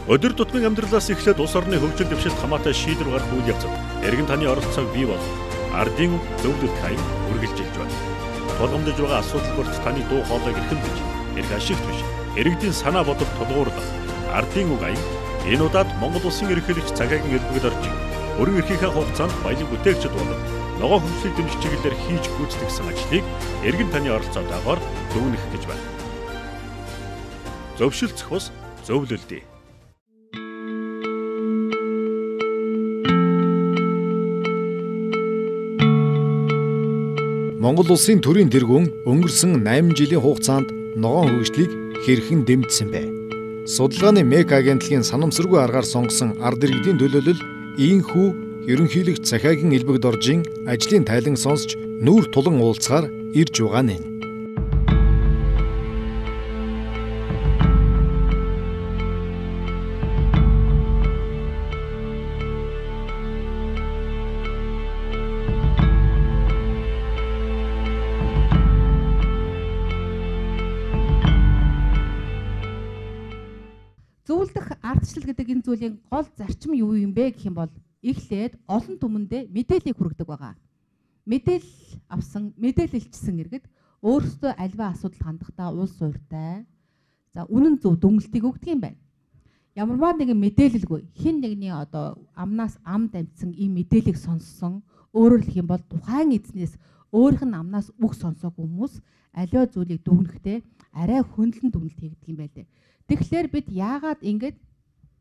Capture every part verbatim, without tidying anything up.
Өдөр тутмын амьдралаас эхлээд улс орны хөгжил дэвшилт хамаатай шийдвэр гаргах үйл явцад эргэн таны оролцоог бий болгох ардын зөвлөлт хайн үргэлжилж байна. Тулгамдж байгаа асуудал бүрт таны дуу хоолойг эрхэм бич, эрх ашигт биш, иргэдийн санаа бодол тулгуурлах ардын үг аян энэ удаад Монгол улсын ерөнхийлөгч цагаагийн элбэгд орж өргөн эрхийнхээ хугацаанд баялаг бүтээгчд болон ногоо хөгжлийг дэмжих чиглэлээр хийж гүйцэтгэсэн ажлыг эргэн таны оролцоотойгоор дүгнэх гэж байна. Зөвшөлтсөх бус зөвлөлдөө. Монгол улсын төрийн тэргүүн өнгөрсөн найман жилийн хугацаанд ногоон хөгжлийг хэрхэн дэмжсэн бэ? Судалгааны МЭК агентлагийн санамсаргүй аргаар сонгосон ард иргэдийн төлөөлөл ийхүү ерөнхийлөгч Цахаагийн элбэгд оржийн ажлын тайлан сонсч нүүр тулан уулзахаар ирж байгаа нь. Зөвлөдөх ардчлал гэдэг энэ зүйлийн гол зарчим юу юм бэ гэх юм бол эхлээд олон түмэндээ мэдээллийг хүргэдэг байгаа. Мэдээлэл авсан, мэдээлэлчсэн иргэд өөрсдөө альва асуудал хандахдаа уул суурьтай, за үнэн зөв дүнэлтийг өгдөг юм байна. Ямарваа нэгэн мэдээлэлгүй хэн нэгний одоо амнаас ам дамжсан ийм мэдээллийг сонссон, өөрөөр хэлэх юм бол тухайн эзнээс өөрийнх нь амнаас үг сонсоогүй хүмүүс аливаа зүйлийг дүгнэхдээ арай хөндлөн дүгнэлт хийгдэг юм байлээ. Тэгэхээр бид яагаад ингэж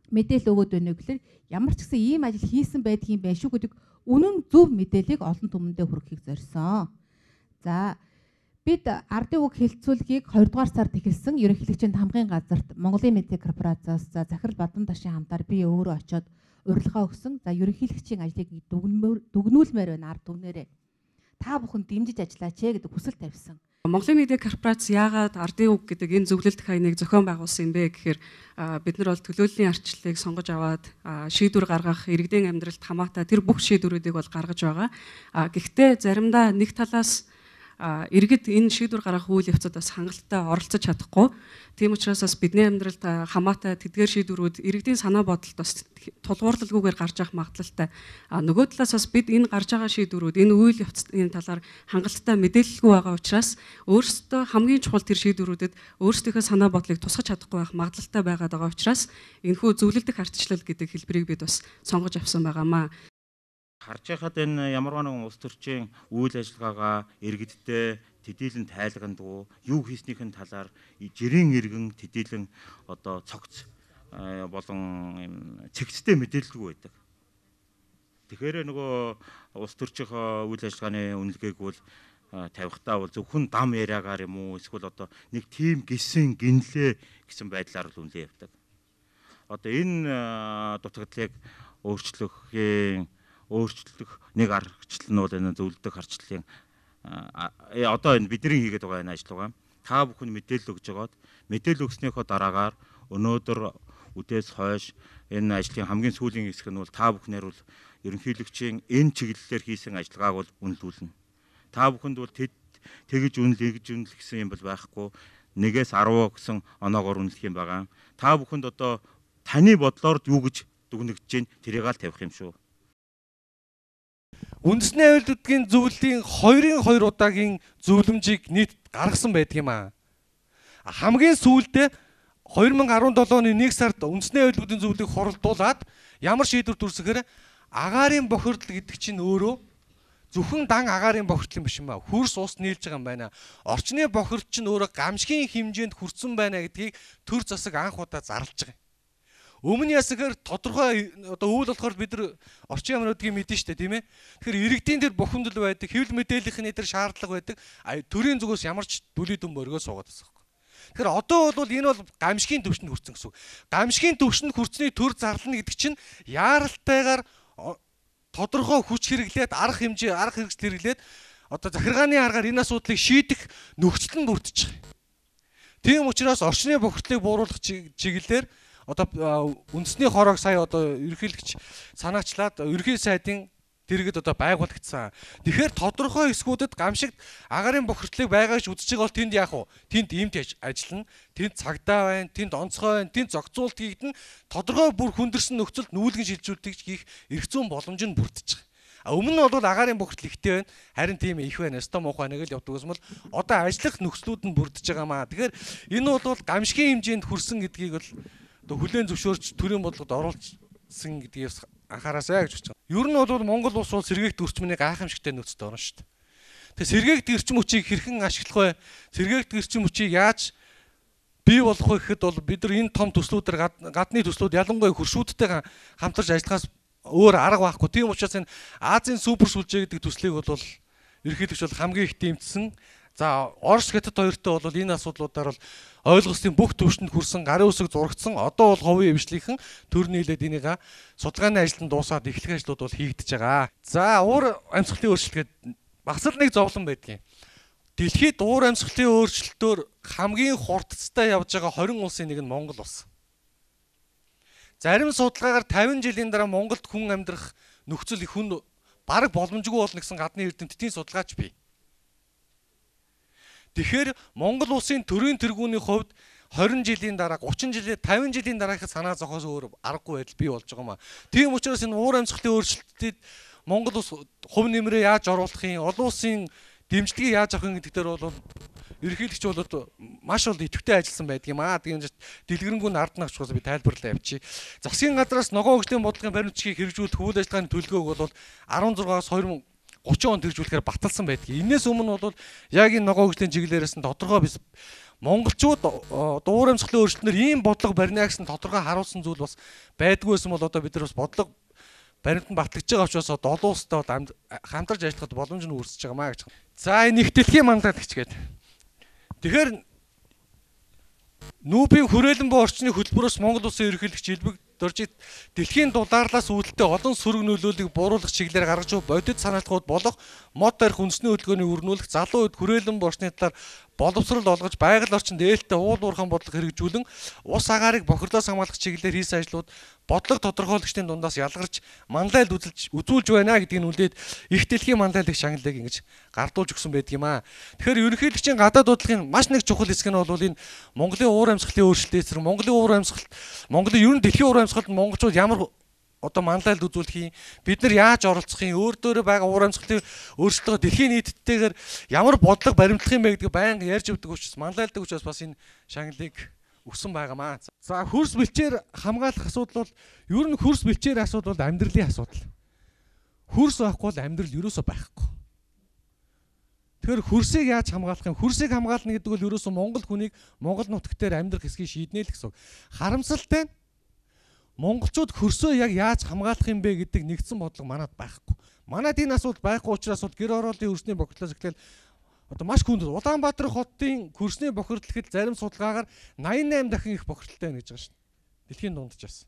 мэдээлэл өгөөд байна вэ гэхээр ямар ч гэсэн ийм ажил хийсэн байдгийн байх шүү гэдэг үнэн зөв мэдээллийг олон түмэндээ хүргэхийг зорьсон. За бид ардын үг хэлцүүлгийг хоёрдугаар сард эхэлсэн ерөнхийлөгчийн хамгын газарт Монголын медиа корпорацаас за Захирал Бадан Ташийн хамтаар би өөрөө очиод урилга өгсөн. За ерөнхийлөгчийн ажлыг дүгнүүлмээр байна ард түмнэрээ. Та бүхэн дэмжиж ажиллаач гэдэг хүсэл тавьсан. Монголын медиа корпорац яагаад ардын үг гэдэг энэ зөвлөлт хаяныг зохион байгуулсан юм бэ гэхээр бид нар бол төлөөллийн арчлалыг сонгож аваад шийдвэр гаргах, иргэдийн амьдралд хамаатай тэр бүх шийдвэрүүдийг бол гаргаж байгаа. Гэхдээ заримдаа нэг талаас иргэд энэ шийдвэр гаргах үйл явцад бас хангалттай оролцож чадахгүй. Тийм учраас бас бидний амьдралд хамаатай тэдгээр шийдвэрүүд иргэдийн санаа бодолд бас тулгуурлалгүйгээр гарч явах магадлалтай. Нөгөө талаас бас бид энэ гарч байгаа шийдвэрүүд энэ үйл явцын талаар хангалттай мэдээлэлгүй байгаа учраас өөрсдөө хамгийн чухал тэр шийдвэрүүдэд өөрсдийнхөө санаа бодлыг тусгаж чадахгүй байх магадлалтай байгаад байгаа учраас энэхүү зөвлөлдөх ардчлал гэдэг хэлбэрийг бид бас сонгож авсан байгаамаа. Харж байхад энэ ямарваа нэгэн улс төрчийн үйл ажиллагаагаа иргэдтэй төдийлөн тайлгандгүй юу хийснийхэн талаар жирийн иргэн төдийлөн одоо цогц болон цэгцтэй мэдээлэлгүй байдаг. Тэгэхээр нөгөө улс төрчийнхөө үйл ажиллагааны үнэлгээг бол тавихтаа бол зөвхөн дам яриагаар юм уу эсвэл одоо нэг тим гисэн гинлээ гэсэн байдлаар л үнэлээ явдаг. Одоо энэ дутагдлыг өөрчлөхийн өөрчлөх нэг аргачлал нь бол энэ зөвлөдөх аргачлалын одоо энэ бидний хийгээд байгаа энэ ажил байгаа. Та бүхэн мэдээлэл өгж байгаад мэдээлэл өгснөөхөө дараагаар өнөөдөр үдээс хойш энэ ажлын хамгийн сүүлийн хэсэг нь бол та бүхнээр бол ерөнхийлөгчийн энэ чиглэлээр хийсэн ажиллагааг бол үнэлүүлнэ. Та бүхэнд бол тэгж үнэл гэж үнэл гэсэн юм бол байхгүй. Нэгээс арав гэсэн оноогоор үнэлэх юм байгаа. Та бүхэнд одоо таны бодлоор юу гэж дүгнэгдэж чинь тэрийг аль тавих юм шүү. Үндэсний аюулгүйн зөвлөлийн хоёрын хоёр удаагийн зөвлөмжийг нийт гаргасан байдаг юм аа. Хамгийн сүүлдээ хоёр мянга арван долоо оны нэг сард үндэсний аюулгүйн зөвлөлийг хоролдуулад ямар шийдвэр төрсөөр агаарын бохирдол гэдэг чинь өөрөө зөвхөн дан агаарын бохирдол юм биш юм аа. Хөрс ус нийлж байгаа юм байна. Орчны бохирдол чинь өөрөө гамшигын хэмжээнд хүрсэн байна гэдгийг төр засаг анх удаа зарлж байгаа. Өмнө ясгаар тодорхой одоо үйл болохоор бид нар орчин юмнуудыг мэдэн штэ тийм ээ. Тэгэхээр иргэдийн тэр бухимдал байдаг, хэвлэл мэдээллийнхний тэр шаардлага байдаг. Төрийн зүгээс ямар ч дүлий дүн мөргөө суугаад байгаа юм. Тэгэхээр одоо бол энэ бол гамшигын төвшөнд хүрсэн гэсэн үг. Гамшигын төвшөнд хүрсний төр зарлана гэдэг чинь яаралтайгаар тодорхой хүч хэрэглээд арга хэмжээ, арга хэрэгсэл хэрэглээд одоо захиргааны аргаар энэ асуудлыг шийдэх нөхцөл нь бүрдэж байгаа. Тийм учраас орчны бохирдлыг бууруулах чиглэлээр одоо үндэсний хороог сая одоо ерөнхийлөгч санаачлаад ерөнхий сайдын дэргэд одоо байгуулагдсан. Тэгэхээр тодорхой хэсгүүдэд гамшигт агаарын бохирдлыг байгаа гэж үзэж байгаа бол тэнд яах вэ? Тэнд эмт ажиллана, тэнд цагдаа байна, тэнд онцгой байна, тэнд зохицуулт хийгдэн тодорхой бүр хүндэрсэн нөхцөлд нүүлгэн шилжүүлэлтийг хийх эрх зүйн боломж нь бүрдэж байгаа. А өмнө нь бол агаарын бохирдол ихтэй байна. Харин тийм их байна. Өстой муухай нэг л явдаг юм бол одоо ажиллах нөхцлүүд нь бүрдэж байгаа маа. Тэгэхээр энэ бол гамшигын хэмжээнд хүрсэн гэдгийг бол одоо хүлээн зөвшөөрч төрийн бодлогод оруулсан гэдгийг анхаараасай гэж бодож байгаа. Ер нь бол Монгол улс бол сэргээгт өрчмөний гайхамшигтай нөхцөлд орно шүү дээ. Тэгээ сэргээгт эрчим хүчийг хэрхэн ашиглах вэ? Сэргээгт эрчим хүчийг яаж бий болгох вэ гэхэд бол бид нар энэ том төслүүдээр гадны төслүүд ялангуяа хөршүүдтэй хамтарч ажиллахаас өөр арга байхгүй. Тийм учраас энэ Азийн супер сүлжээ гэдэг төслийг бол ерөнхийдөө бол хамгийн их дэмжсэн. За Орос Хятад хоёртой бол энэ асуудлуудаар бол ойлгоснын бүх төвшөнд хүрсэн, гарын үсэг зурагдсан. Одоо бол ховын эвшлийнхэн төр нийлээд энийг судалгааны ажилд дуусаад эхлэх ажлууд бол хийгдэж байгаа. За уур амьсгалын өөрчлөлт гэдэг бас л нэг зовлон байдгийн. Дэлхийд уур амьсгалын өөрчлөлтөөр хамгийн хурдцтай явж байгаа хорин улсын нэг нь Монгол улс. Зарим судалгаагаар тавин жилийн дараа Монголд хүн амьдрах нөхцөл их хүн бараг боломжгүй болно гэсэн гадны эрдэмтдийн судалгаач бий. Тэгэхээр Монгол улсын төрийн тэргүүний хувьд хорин жилийн дараа, гучин жилийн, тавин жилийн дараахад санаа зовхоос өөр аргагүй байдал бий болж байгаа юм а. Тийм учраас энэ уур амьсгалын өөрчлөлтөд Монгол улс хувь нэмрээ яаж оруулах юм, олон улсын дэмжлэгийг яаж авах юм гэдэг дээр бол ерөнхийлөгч бол маш ол идэвхтэй ажилласан байдаг юм аа. Тийм дэлгэрэнгүй ард нь авчихсан би тайлбарлаа явчих. Засгийн газраас ногоон хөгжлийн бодлогын баримтчгийг хэрэгжүүлэх үйл ажиллагааны төлөвлөгөөг бол арван зургаас хоёр мың и гурван онд хэрэгжүүлэхээр баталсан байдаг. Инээс өмнө бол яг энэ ногоон хөгжлийн чиглэлээрээс нь тодорхой бис монголчууд уур амьсгалын өөрчлөлтөөр ийм бодлого барьна гэсэн тодорхой харуулсан зүйл бас байдгүйсэн бол одоо бид нар бас бодлого баримт нь батлагдж байгаа учраас олон улстай хамтарч ажиллахад боломж нь үүсэж байгаа маа гэж. За энэ их дэлхийн манлайлагч гэдэг. Тэгэхээр Нүүбийн хүрээлэн буй орчны хөтөлбөрөөс Монгол улсын ерөнхийлөгч Илбэг Доржид дэлхийн дулаарлаас үүдэлтэй олон сөрөг нөлөөллийг бууруулах чиглэлээр гаргаж буй бодит санаалтгууд болох мод тарих үндэсний хөдөлгөөний өрнүүлэх залуу үед хүрээлэн буй орчны талаар боловсрол олгож байгаль орчинд ээлтэй уул уурхайн бодлого хэрэгжүүлэн ус агаарыг бохирдоос хамгаалах чиглэлээр хийсэн ажлууд бодлого тодорхойлогчдын дундаас ялгарч манлайлд үзүүлж үзүүлж байна гэдгийг үлдээд их дэлхийн манлайлагч шагналыг ингэж гардуулж өгсөн байдаг юм аа. Тэгэхээр ерөнхийлөгчийн гадаад бодлогын маш нэг чухал хэсэг нь бол энэ Монголын уур амьсгалын өөрчлөлтөөс Монголын уур амьсгалт Монголын ер нь дэлхийн уур амьсгалд монголчууд ямар одоо манлайлд үзүүлэх юм, бид нар яаж оролцох юм, өөр дөөрэ байгаа уур амьсгалын өөрчлөлтөө дэлхийн нийтдтэйгээр ямар бодлого баримтлах юм бэ гэдгийг байнга ярьж өгдөг учраас манлайлдаг учраас бас энэ шагналыг өгсөн байгаамаа. За хөрс бэлчээр хамгаалах асуудал бол ер нь хөрс бэлчээр асуудал бол амьдралын асуудал. Хөрс байхгүй бол амьдрал ерөөсөө байхгүй. Тэгэхээр хөрсийг яаж хамгаалах юм? Хөрсийг хамгаална гэдэг бол ерөөсөө Монгол хүнийг Монгол нутагт дээр амьдрах хэсгийг шийднэ л гэсэн. Харамсалтай нь монголчууд хөрсөө яг яаж хамгаалах юм бэ гэдэг нэгдсэн бодлого манад байхгүй. Манад энэ асуудал байхгүй учраас бол гэр ороолын хөрсний бохирдлоос эхлээл одоо маш хүнд Улаанбаатар хотын хөрсний бохирдол гэхэд зарим судалгаагаар найман восемь дахин их бохирдолтой байна гэж байгаа шүү дээ. Дэлхийн дундчаас.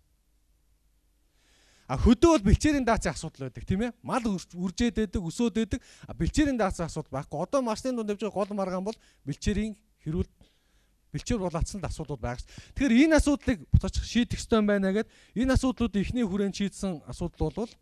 А хөдөө бол бэлчээрийн даацын асуудал байдаг тийм ээ. Мал үржээд байдаг, өсөөд байдаг. А бэлчээрийн даацын асуудал байхгүй. Одоо марсны дунд явж байгаа гол маргаан бол бэлчээрийн хэрүүл бэлчээр булаацсан асуудлууд байгаа ш. Тэгэхээр энэ асуудлыг буцаач шийдэх ёстой байна гэдэг. Энэ асуудлуудын эхний хүрээнд шийдсэн асуудал бол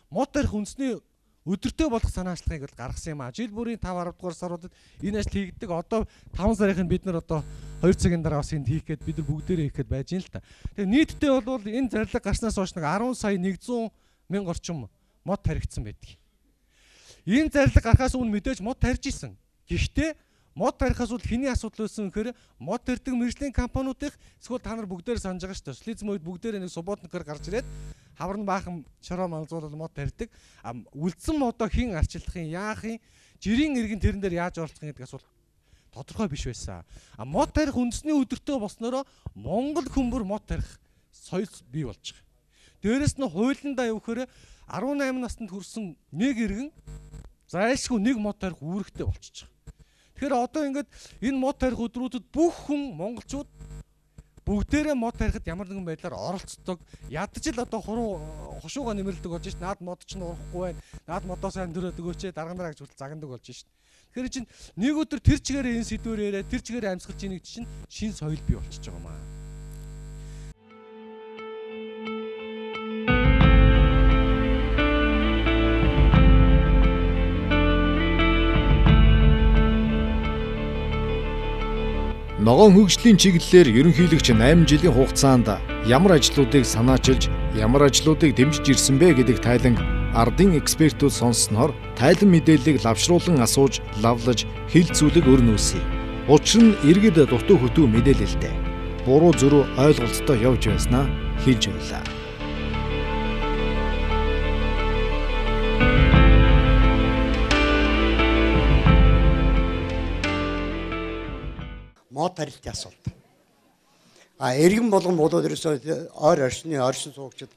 мод тарих үндэсний өдөртөө болох санаачлагыг бол гаргасан юм а. Жил бүрийн тавь арав дугаар саруудад энэ ажил хийгддэг. Одоо таван сарын бид нар одоо хоёр цагийн дараа бас энд хийх гээд бид нар бүгдээрээ хийх гээд байж юм л та. Тэгээ нийтдээ бол энэ зарлиг гарснаас хойш нэг арван сая нэгдсэн мянга орчим мод таригдсан байдаг. Энэ зарлиг гарахаас өмнө мэдээж мод тарьж исэн. Гэхдээ мод тарихаас бол хэний асуудал байсан гэхээр мод тарьдаг мэргэжлийн компаниудын эсвэл та нар бүгдээр санаж байгаа шүү дээ. Социализм үед бүгдээр нэг субботникээр гарч ирээд хаврын баахан шороо манзуулал мод тарьдаг. А үлдсэн модоо хэн арчилах юм, яах юм, жирийн иргэн тэрэн дээр яаж оролцох юм гэдэг асуулт тодорхой биш байсан. А мод тарих үндэсний өдөртөө болсноро Монгол хүмүүр мод тарих соёл бий болж байгаа. Дээрээс нь хуулиндаа явахаар арван найман настанд хүрсэн нэг иргэн зайлшгүй нэг мод тарих үүрэгтэй болчихж байгаа. Тэгэхээр одоо ингээд энэ мод тарих өдрүүдэд бүх хүн монголчууд бүгдээрээ мод тарихад ямар нэгэн байдлаар оролцдог. Ядаж л одоо хуруу хушууга нэмэрлдэг болж шít. Наад мод ч нурахгүй байна. Наад модоо сайн дөрөөд өгөөч. Дарга нараа гэж хүртэл загандаг болж шít. Тэгэхээр чинь нэг өдөр тэр чигээрээ энэ сэдвээр яриа, тэр чигээрээ амьсгаж ийн гэж чинь шин соёл бий болчихж байгаа маа. Ногоон хөгжлийн чиглэлээр ерөнхийлөгч найман жилийн хугацаанд ямар ажлуудыг санаачилж, ямар ажлуудыг дэмжиж ирсэн бэ гэдэг тайлан ардын экспертүүд сонссноор тайлан мэдээллийг лавшруулан асууж, лавлаж, хилцүүлэг өрнөөсэй. Учир нь иргэд дутуу хөтүү мэдээлэлтэй буруу зүрүү ойлголттой явж байснаа хэлж байлаа. Мод тарилтын асуулт. А иргэн болгон болоод ерөөсөө ойр орчны оршин суугчид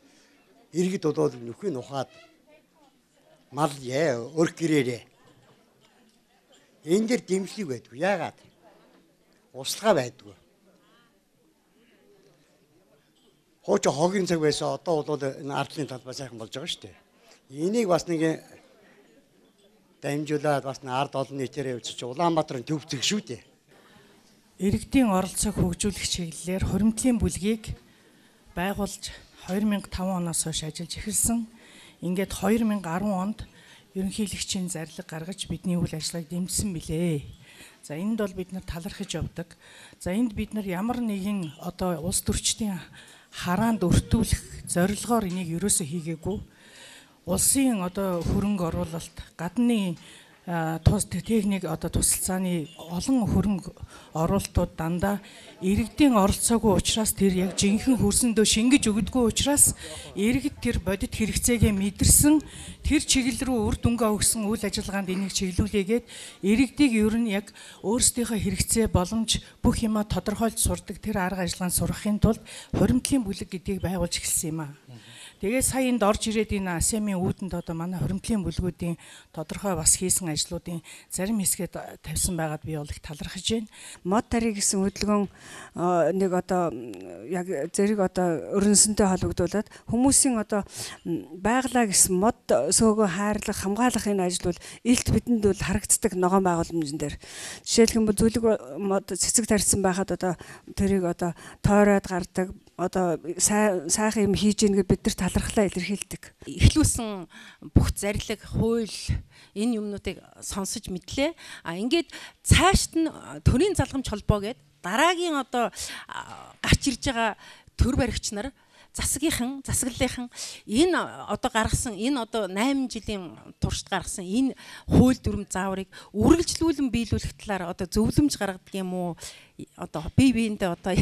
иргэд болоод нөхөй нухаад мал яа өр гэрээрээ. Энэ дэр дэмжлэг байдгүй. Яагаад? Услага байдгүй. Хооч хогийн цаг байсан одоо бол энэ ардлын талбай сайхан болж байгаа шүү дээ. Энийг бас нэг дамжуулаад бас ард олон нийтээр явж чи Улаанбаатарын төв зэг шүү дээ. Иргэдийн оролцоог хөгжүүлэх чиглэлээр хуримтлын бүлгийг байгуулж хоёр мянга таван оноос хойш ажиллаж эхэлсэн. Ингээд хоёр мянга арван онд ерөнхийлөгчийн зарлиг гаргаж бидний үйл ажиллагааг дэмжсэн билээ. За энд бол бид нар талархаж явдаг. За энд бид нар ямар нэгэн одоо улс төрчдийн хараанд өртүүлэх зорилгоор энийг ерөөсөө хийгээгүй. Улсын одоо хөрөнгө оруулалт, гадны тус техник одоо тусалцааны олон хөрөнгө оруулалтууд дандаа иргэдийн оролцоогүй учраас тэр яг жинхэнэ хөрсөндөө шингэж өгдөггүй учраас иргэд тэр бодит хэрэгцээгээ мэдэрсэн тэр чиглэл рүү үр дүнгээ өгсөн үйл ажиллагаанд энийг чиглүүлээгээд иргэдийг ер нь яг өөрсдийнхөө хэрэгцээ боломж бүх юма тодорхойлж сурдаг тэр арга ажиллагаанд сурахын тулд хуримтлын бүлэг гэдгийг байгуулж эхэлсэн юм аа. Тэгээ сая энд орж ирээд энэ АСЕАМ-ийн үүдэнд одоо манай хуримтлын бүлгүүдийн тодорхой бас хийсэн ажлуудын зарим хэсгээд тавьсан байгаад би бол их талархаж байна. Мод тариг гэсэн хөдөлгөөн нэг одоо яг зэрэг одоо өрнөсөнтэй холбогдуулаад хүмүүсийн одоо байгалаа гэсэн мод сөөгөө хайрлах, хамгаалах энэ ажил бол илт бидэнд бол харагддаг ногоон байгууламжн дээр. Жишээлбэл зүлэг мод цэцэг тарьсан байхад одоо тэрийг одоо тойроод гардаг одоо сайхан юм хийж ийн гэж бид нар талархлаа илэрхийлдэг. Эхлүүлсэн бүх зарлиг, хууль энэ юмнуудыг сонсож мэдлээ. А ингээд цаашд нь төрийн залгамж холбоо гэдэг дараагийн одоо гарч ирж байгаа төр баригч нар засгийнхан, засаглалынхан энэ одоо гаргасан энэ одоо найман жилийн туршид гаргасан энэ хууль дүрм зааврыг үргэлжлүүлэн биелүүлэх талаар одоо зөвлөмж гаргадаг юм уу? Одоо бие биендээ одоо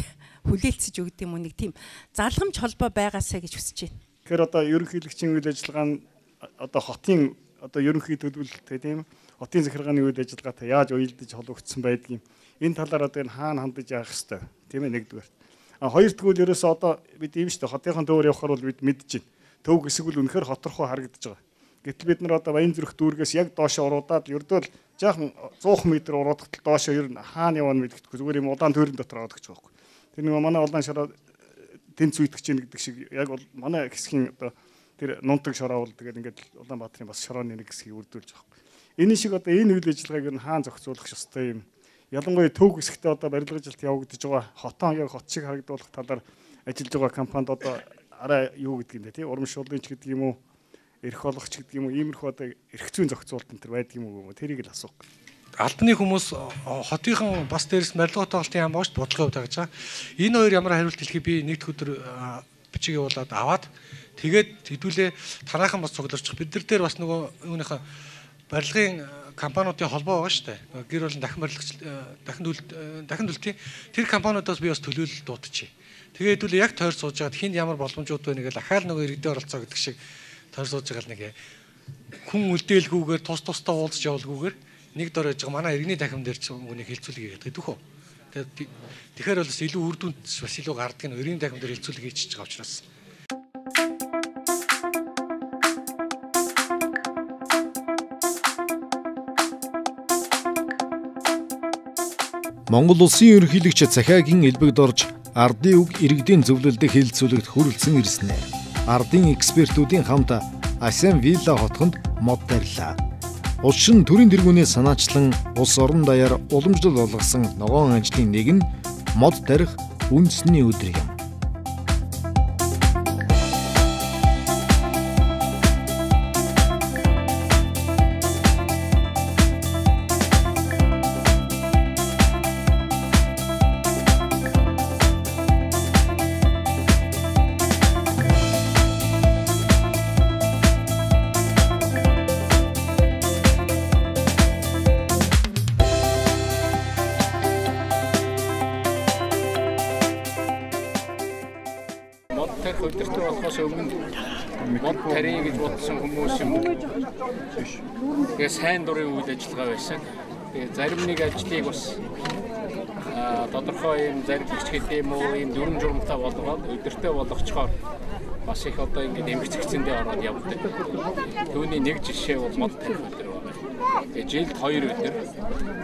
хүлээлцэж өгд юм уу нэг тийм залгамж холбоо байгаасаа гэж хүсэж байна. Тэгэхээр одоо ерөнхийлөгчийн үйл ажиллагаа нь одоо хотын одоо ерөнхий төлөвлөлттэй тийм хотын захиргааны үйл ажиллагаатай яаж уялдаж холбогдсон байдгийг энэ талаар одоо энэ хаана хандаж явах хэвээр тийм ээ нэгдүгээр. А хоёр дахь нь ерөөсөө одоо бид ийм шүү дээ хотынхон төвөр явахаар бол бид мэдэж байна. Төв хэсэг бол үнэхээр хоторхоо харагдаж байгаа. Гэтэл бид нар одоо Баян зүрх дүүргээс яг доошоо уруудаад ердөө л жаахан цуухан метр уруудахад доошоо ер нь хаана явна мэдгэдэггүй зүгээр юм удаан тойрон дотор аваад гэж байгаа юм. Тэр нэг манай улаан шороо тэнц үйтгэж ийн гэдэг шиг яг бол манай хэсгийн одоо тэр нунтаг шороо бол тэгээд ингээд Улаанбаатарын бас шорооны нэг хэсгийг үрдүүлж байгаа юм. Энэ шиг одоо энэ үйл ажиллагааг ер нь хаана зохицуулах ёстой юм. Ялангуяа төв хэсэгтээ одоо барилгын ажилт явагдаж байгаа хотон яг хот шиг харагдуулах талаар ажиллаж байгаа компанид одоо арай юу гэдэг юм бэ тий урамшууллын ч гэдэг юм уу эрх олгогч гэдэг юм уу иймэрхүү одоо эрх зүйн зохицуулалт энэ төр байдаг юм уу тэрийг л асуух. Албаны хүмүүс хотынхан бас дээрс барилгын тоглолтын яам бооч бодлого явуулдаг гэж байгаа. Энэ хоёр ямар хариулт хэлхий би нэгд өдөр бичиг явуулаад аваад тэгээд хэдүүлээ танаахан бас цугларчих. Бид нар дээр бас нөгөө юуныхаа барилгын компаниудын холбоо байгаа шүү дээ. Гэр болон дахин барилгач дахин дахин төлтийн тэр компаниудаас би бас төлөөлөл дуудчихъя. Тэгээд хэдүүлээ яг тойр сууж байгаад хинд ямар боломжууд байна гэж ахаал нөгөө иргэдийн оролцоо гэдэг шиг тойр сууж байгаа нэг хүн үлдээлгүйгээр тус тустай уулзж явуулгүйгээр нэг дор яж байгаа манай иргэний дахин дээр ч үнийг хилцүүлэг хийгээд дөхөө. Тэгээд тэгэхээр бол илүү үр дүнд бас илүү гардаг нь иргэний дахин дээр хилцүүлэг хийчихэж байгаа учраас. Монгол улсын ерөнхийлөгч захиагийн элбэгд орж ардын үг иргэдийн зөвлөлдөд хэлэлцүүлэгт хүрэлцэн ирсэн. Ардын экспертүүдийн хамт АСЕАН Вилла хотхонд мод тарилаа. Учир нь төрийн тэргүүнээс санаачлан улс орон даяар уламжлал болгосон ногоон ажлын нэг нь мод тарих үндэсний өдөр юм. мод тарих өдөртөө болохоос өмнө мод тарих гэж бодсон хүмүүс юм. Тэгээ сайн дурын үйл ажиллагаа байсан. Тэгээ зарим нэг ажлыг бас тодорхой юм зарилгч гэдэг юм уу юм дүрм журмтай болгоод өдөртөө болгочхоор бас их одоо ингэ эмгэгцэндээ ороод явдаг. Түүний нэг жишээ бол мод тарих өдөр байна. Тэгээ жилд хоёр өдөр.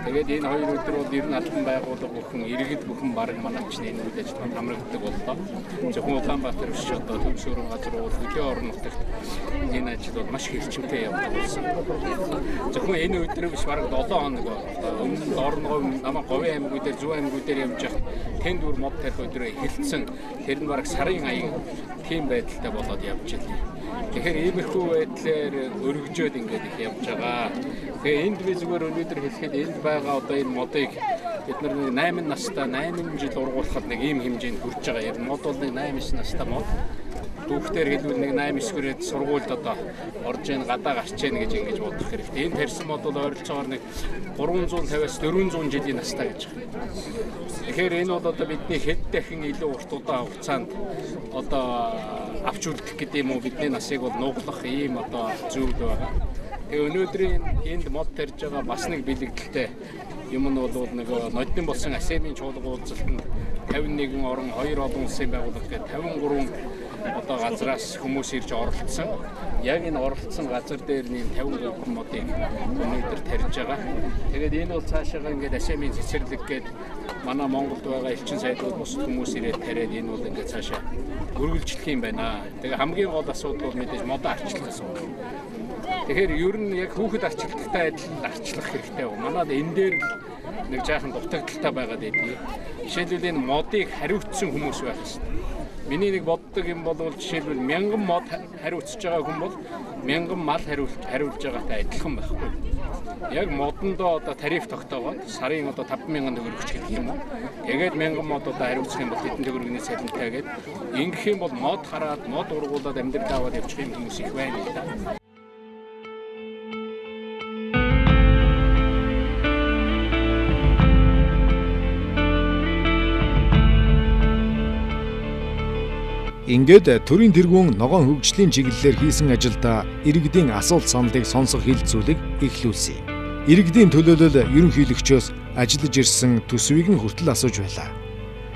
Тэгээд энэ хоёр өдөр бол ер нь албан байгууллага бүхэн иргэд бүхэн баг манайчны энэ үйл ажиллагаанд хамрагддаг боллоо. Зөвхөн Улаанбаатар биш одоо төвс өрн газар бол хөдөө орон нутагт энэ ажил бол маш хэрчмтэй явдаг болсон. Зөвхөн энэ өдөр биш баг долоон хоног өмнө орногоо намаа говийн аймагуудаар Зөв аймагуудаар явж явах тэнд бүр мод тарих өдрөө эхэлсэн. Тэр нь баг сарын аян тийм байдалтай болоод явж байлаа. Тэгэхээр иймэрхүү байдлаар өргөжөөд ингээд их явж байгаа. Тэгээ энд би зүгээр өнөөдөр хэлэхэд энд байгаа одоо энэ модыг бид нар нэг найман настай найман жил ургуулхад нэг ийм хэмжээнд хүрч байгаа. Яг мод бол нэг найман настай мод. Дүүхтэр хэлбэл нэг найман хүрээд сургуульд одоо орж ийн гадаа гарч ийн гэж ингэж бодох хэрэгтэй. Энэ тарьсан мод бол ойролцоогоор нэг гурван зуун тавиас дөрвөн зуун жилийн настай гэж байна. Тэгэхээр энэ бол одоо бидний хэд дахин илүү урт удаан хугацаанд одоо авч үлдэх гэдэг юм уу бидний насыг бол нуглах ийм одоо зүйл байгаа. Тэгээ өнөөдрийн энд мод тарьж байгаа бас нэг бэлэгдэлтэй юм нь бол нэг ноддын болсон АСЕМ-ийн чуулга уулзалтанд тавин нэгэн орон хоёр олон улсын байгууллага гэдэг тавин гурван одоо газраас хүмүүс ирж оролцсон. Яг энэ оролцсон газар дээр нэм тавин гурван модыг өнөөдөр тарьж байгаа. Тэгээд энэ бол цаашаа ингээд АСЕМ-ийн цэцэрлэг гээд манай Монголд байгаа элчин сайдууд бус хүмүүс ирээд тариад энэ бол ингээд цаашаа үргэлжлэх юм байна. Тэгээ хамгийн гол асуудал бол мэдээж модоо арчлах асуудал. Тэгэхээр ер нь яг хүүхэд арчилттай адил арчлах хэрэгтэй байна. Манайд энэ дээр нэг жаахан дутагдaltaй байгаад байдгийг. Жишээлбэл энэ модыг хариуцсан хүмүүс байх хэрэгтэй. Миний нэг боддог юм бол жишээлбэл мянган мод хариуцж байгаа хүн бол мянган мал хариулж хариулж байгаатай адилхан байхгүй. Яг модондоо одоо тариф тогтоогоод сарын одоо таван мянган төгрөг ч гэх юм уу. Тэгээд мянган мод одоо хариуцах юм бол хэдэн төгрөгний цалинтай гэдэг. Ингэх юм бол мод хараад мод ургуулад амьдрал аваад явчих юм хүмүүс их байна л да. Ингээд төрийн тэргүүн ногоон хөгжлийн чиглэлээр хийсэн ажилдаа иргэдийн асуулт саналыг сонсох хилцүүлэг эхлүүлсэн. Иргэдийн төлөөлөл ерөнхийлөгчөөс ажиллаж ирсэн төсвийг нь хүртэл асууж байлаа.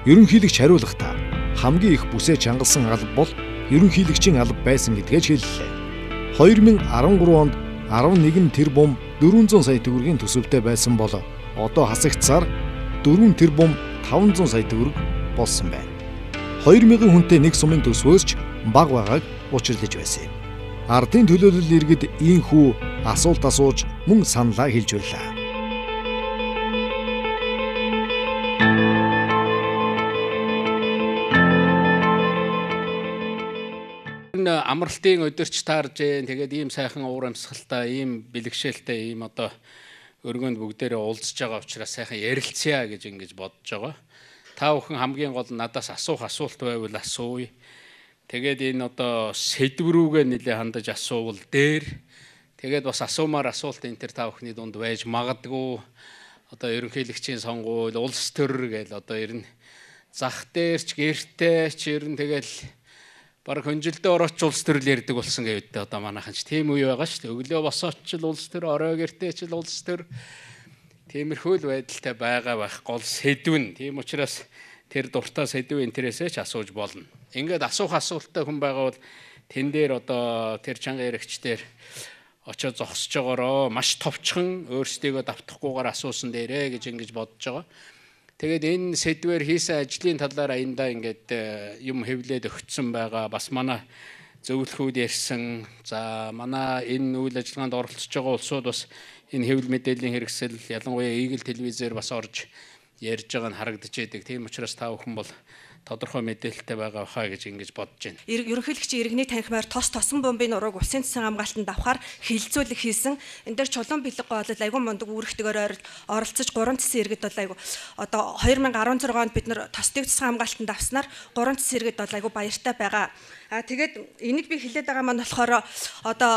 Ерөнхийлөгч хариулахдаа хамгийн их бүсээ чангалсан алба бол ерөнхийлөгчийн алба байсан гэдгээ хэллээ. хоёр мың арван гурав онд арван нэгэн тэрбум дөрвөн зуун сая төгрөгийн төсөвтэй байсан бол одоо хасагдсаар дөрвөн тэрбум таван зуун сая төгрөг болсон байна. хоёр мянган хүнтэй нэг сумын төсвөөс ч бага байгааг учирлаж байсан юм. Ардын төлөөлөл иргэд ийхүү асуулт асууж мөн саналаа хэлж байлаа. Амралтын өдөрч таарж जैन тэгээд ийм сайхан уур амьсгалтай ийм бэлгшээлтэй ийм одоо өргөнд бүгдээрээ уулзж байгаа учраас сайхан ярилцъя гэж ингэж бодож байгаа. Та бүхэн хамгийн гол надаас асуух асуулт байвал асууя. Тэгээд энэ одоо сэдврүүгээ нэлээ хандаж асуувал дээр тэгээд бас асуумаар асуулт энэ төр та бүхний дунд байж магадгүй. Одоо ерөнхийлөгчийн сонгуул, улс төр гээл одоо ер нь зах дээрч гэртээ ч ер нь тэгэл баг хөнжилдөө орооч улс төрөл ярьдаг болсон гэвдээ одоо манайхан ч тийм үе байгаа шүү дээ. Өглөө босооч ч улс төр, орой гэртээ ч улс төр. Тиймэрхүү л байдалтай байгаа байх гол сэдвэн. Тийм учраас тэр дуртай сэдвэн интересээ ч асууж болно. Ингээд асуух асуулттай хүн байгаа бол тэн дээр одоо тэр чанга яригчдэр очоод зогсож байгаароо маш товчхон өөрсдийгөө давтахгүйгээр асуусан дээрээ гэж ингэж бодож байгаа. Тэгээд энэ сэдвээр хийсэн ажлын талаар аяндаа ингээд юм хэвлээд өгсөн байгаа. Бас манай зөвлөхүүд ярьсан. За манай энэ үйл ажиллагаанд оролцож байгаа улсууд бас энэ хэвлэл мэдээллийн хэрэгсэл ялангуяа Eagle телевизээр бас орж ярьж байгаа нь харагдаж байдаг. Тийм учраас та бүхэн бол тодорхой мэдээлэлтэй байгаа хаа гэж ингэж бодож байна. Ерөнхийлөгчийн иргэний танхимаар тос тосон бомбын нурууг улсын засгийн хамгаалтанд авахар хилцүүлэг хийсэн. Энд дээр чулуун бэлэг гоолол айгүй мундаг үүрэгтэйгээр оролцож гурван цэсэн иргэд бол айгүй одоо хоёр мың арван зураг онд бид нар тосдыг засгийн хамгаалтанд авснаар гурван цэсэн иргэд бол айгүй баяртай байгаа. А тэгээд энийг би хэлээд байгаа маань болохоор одоо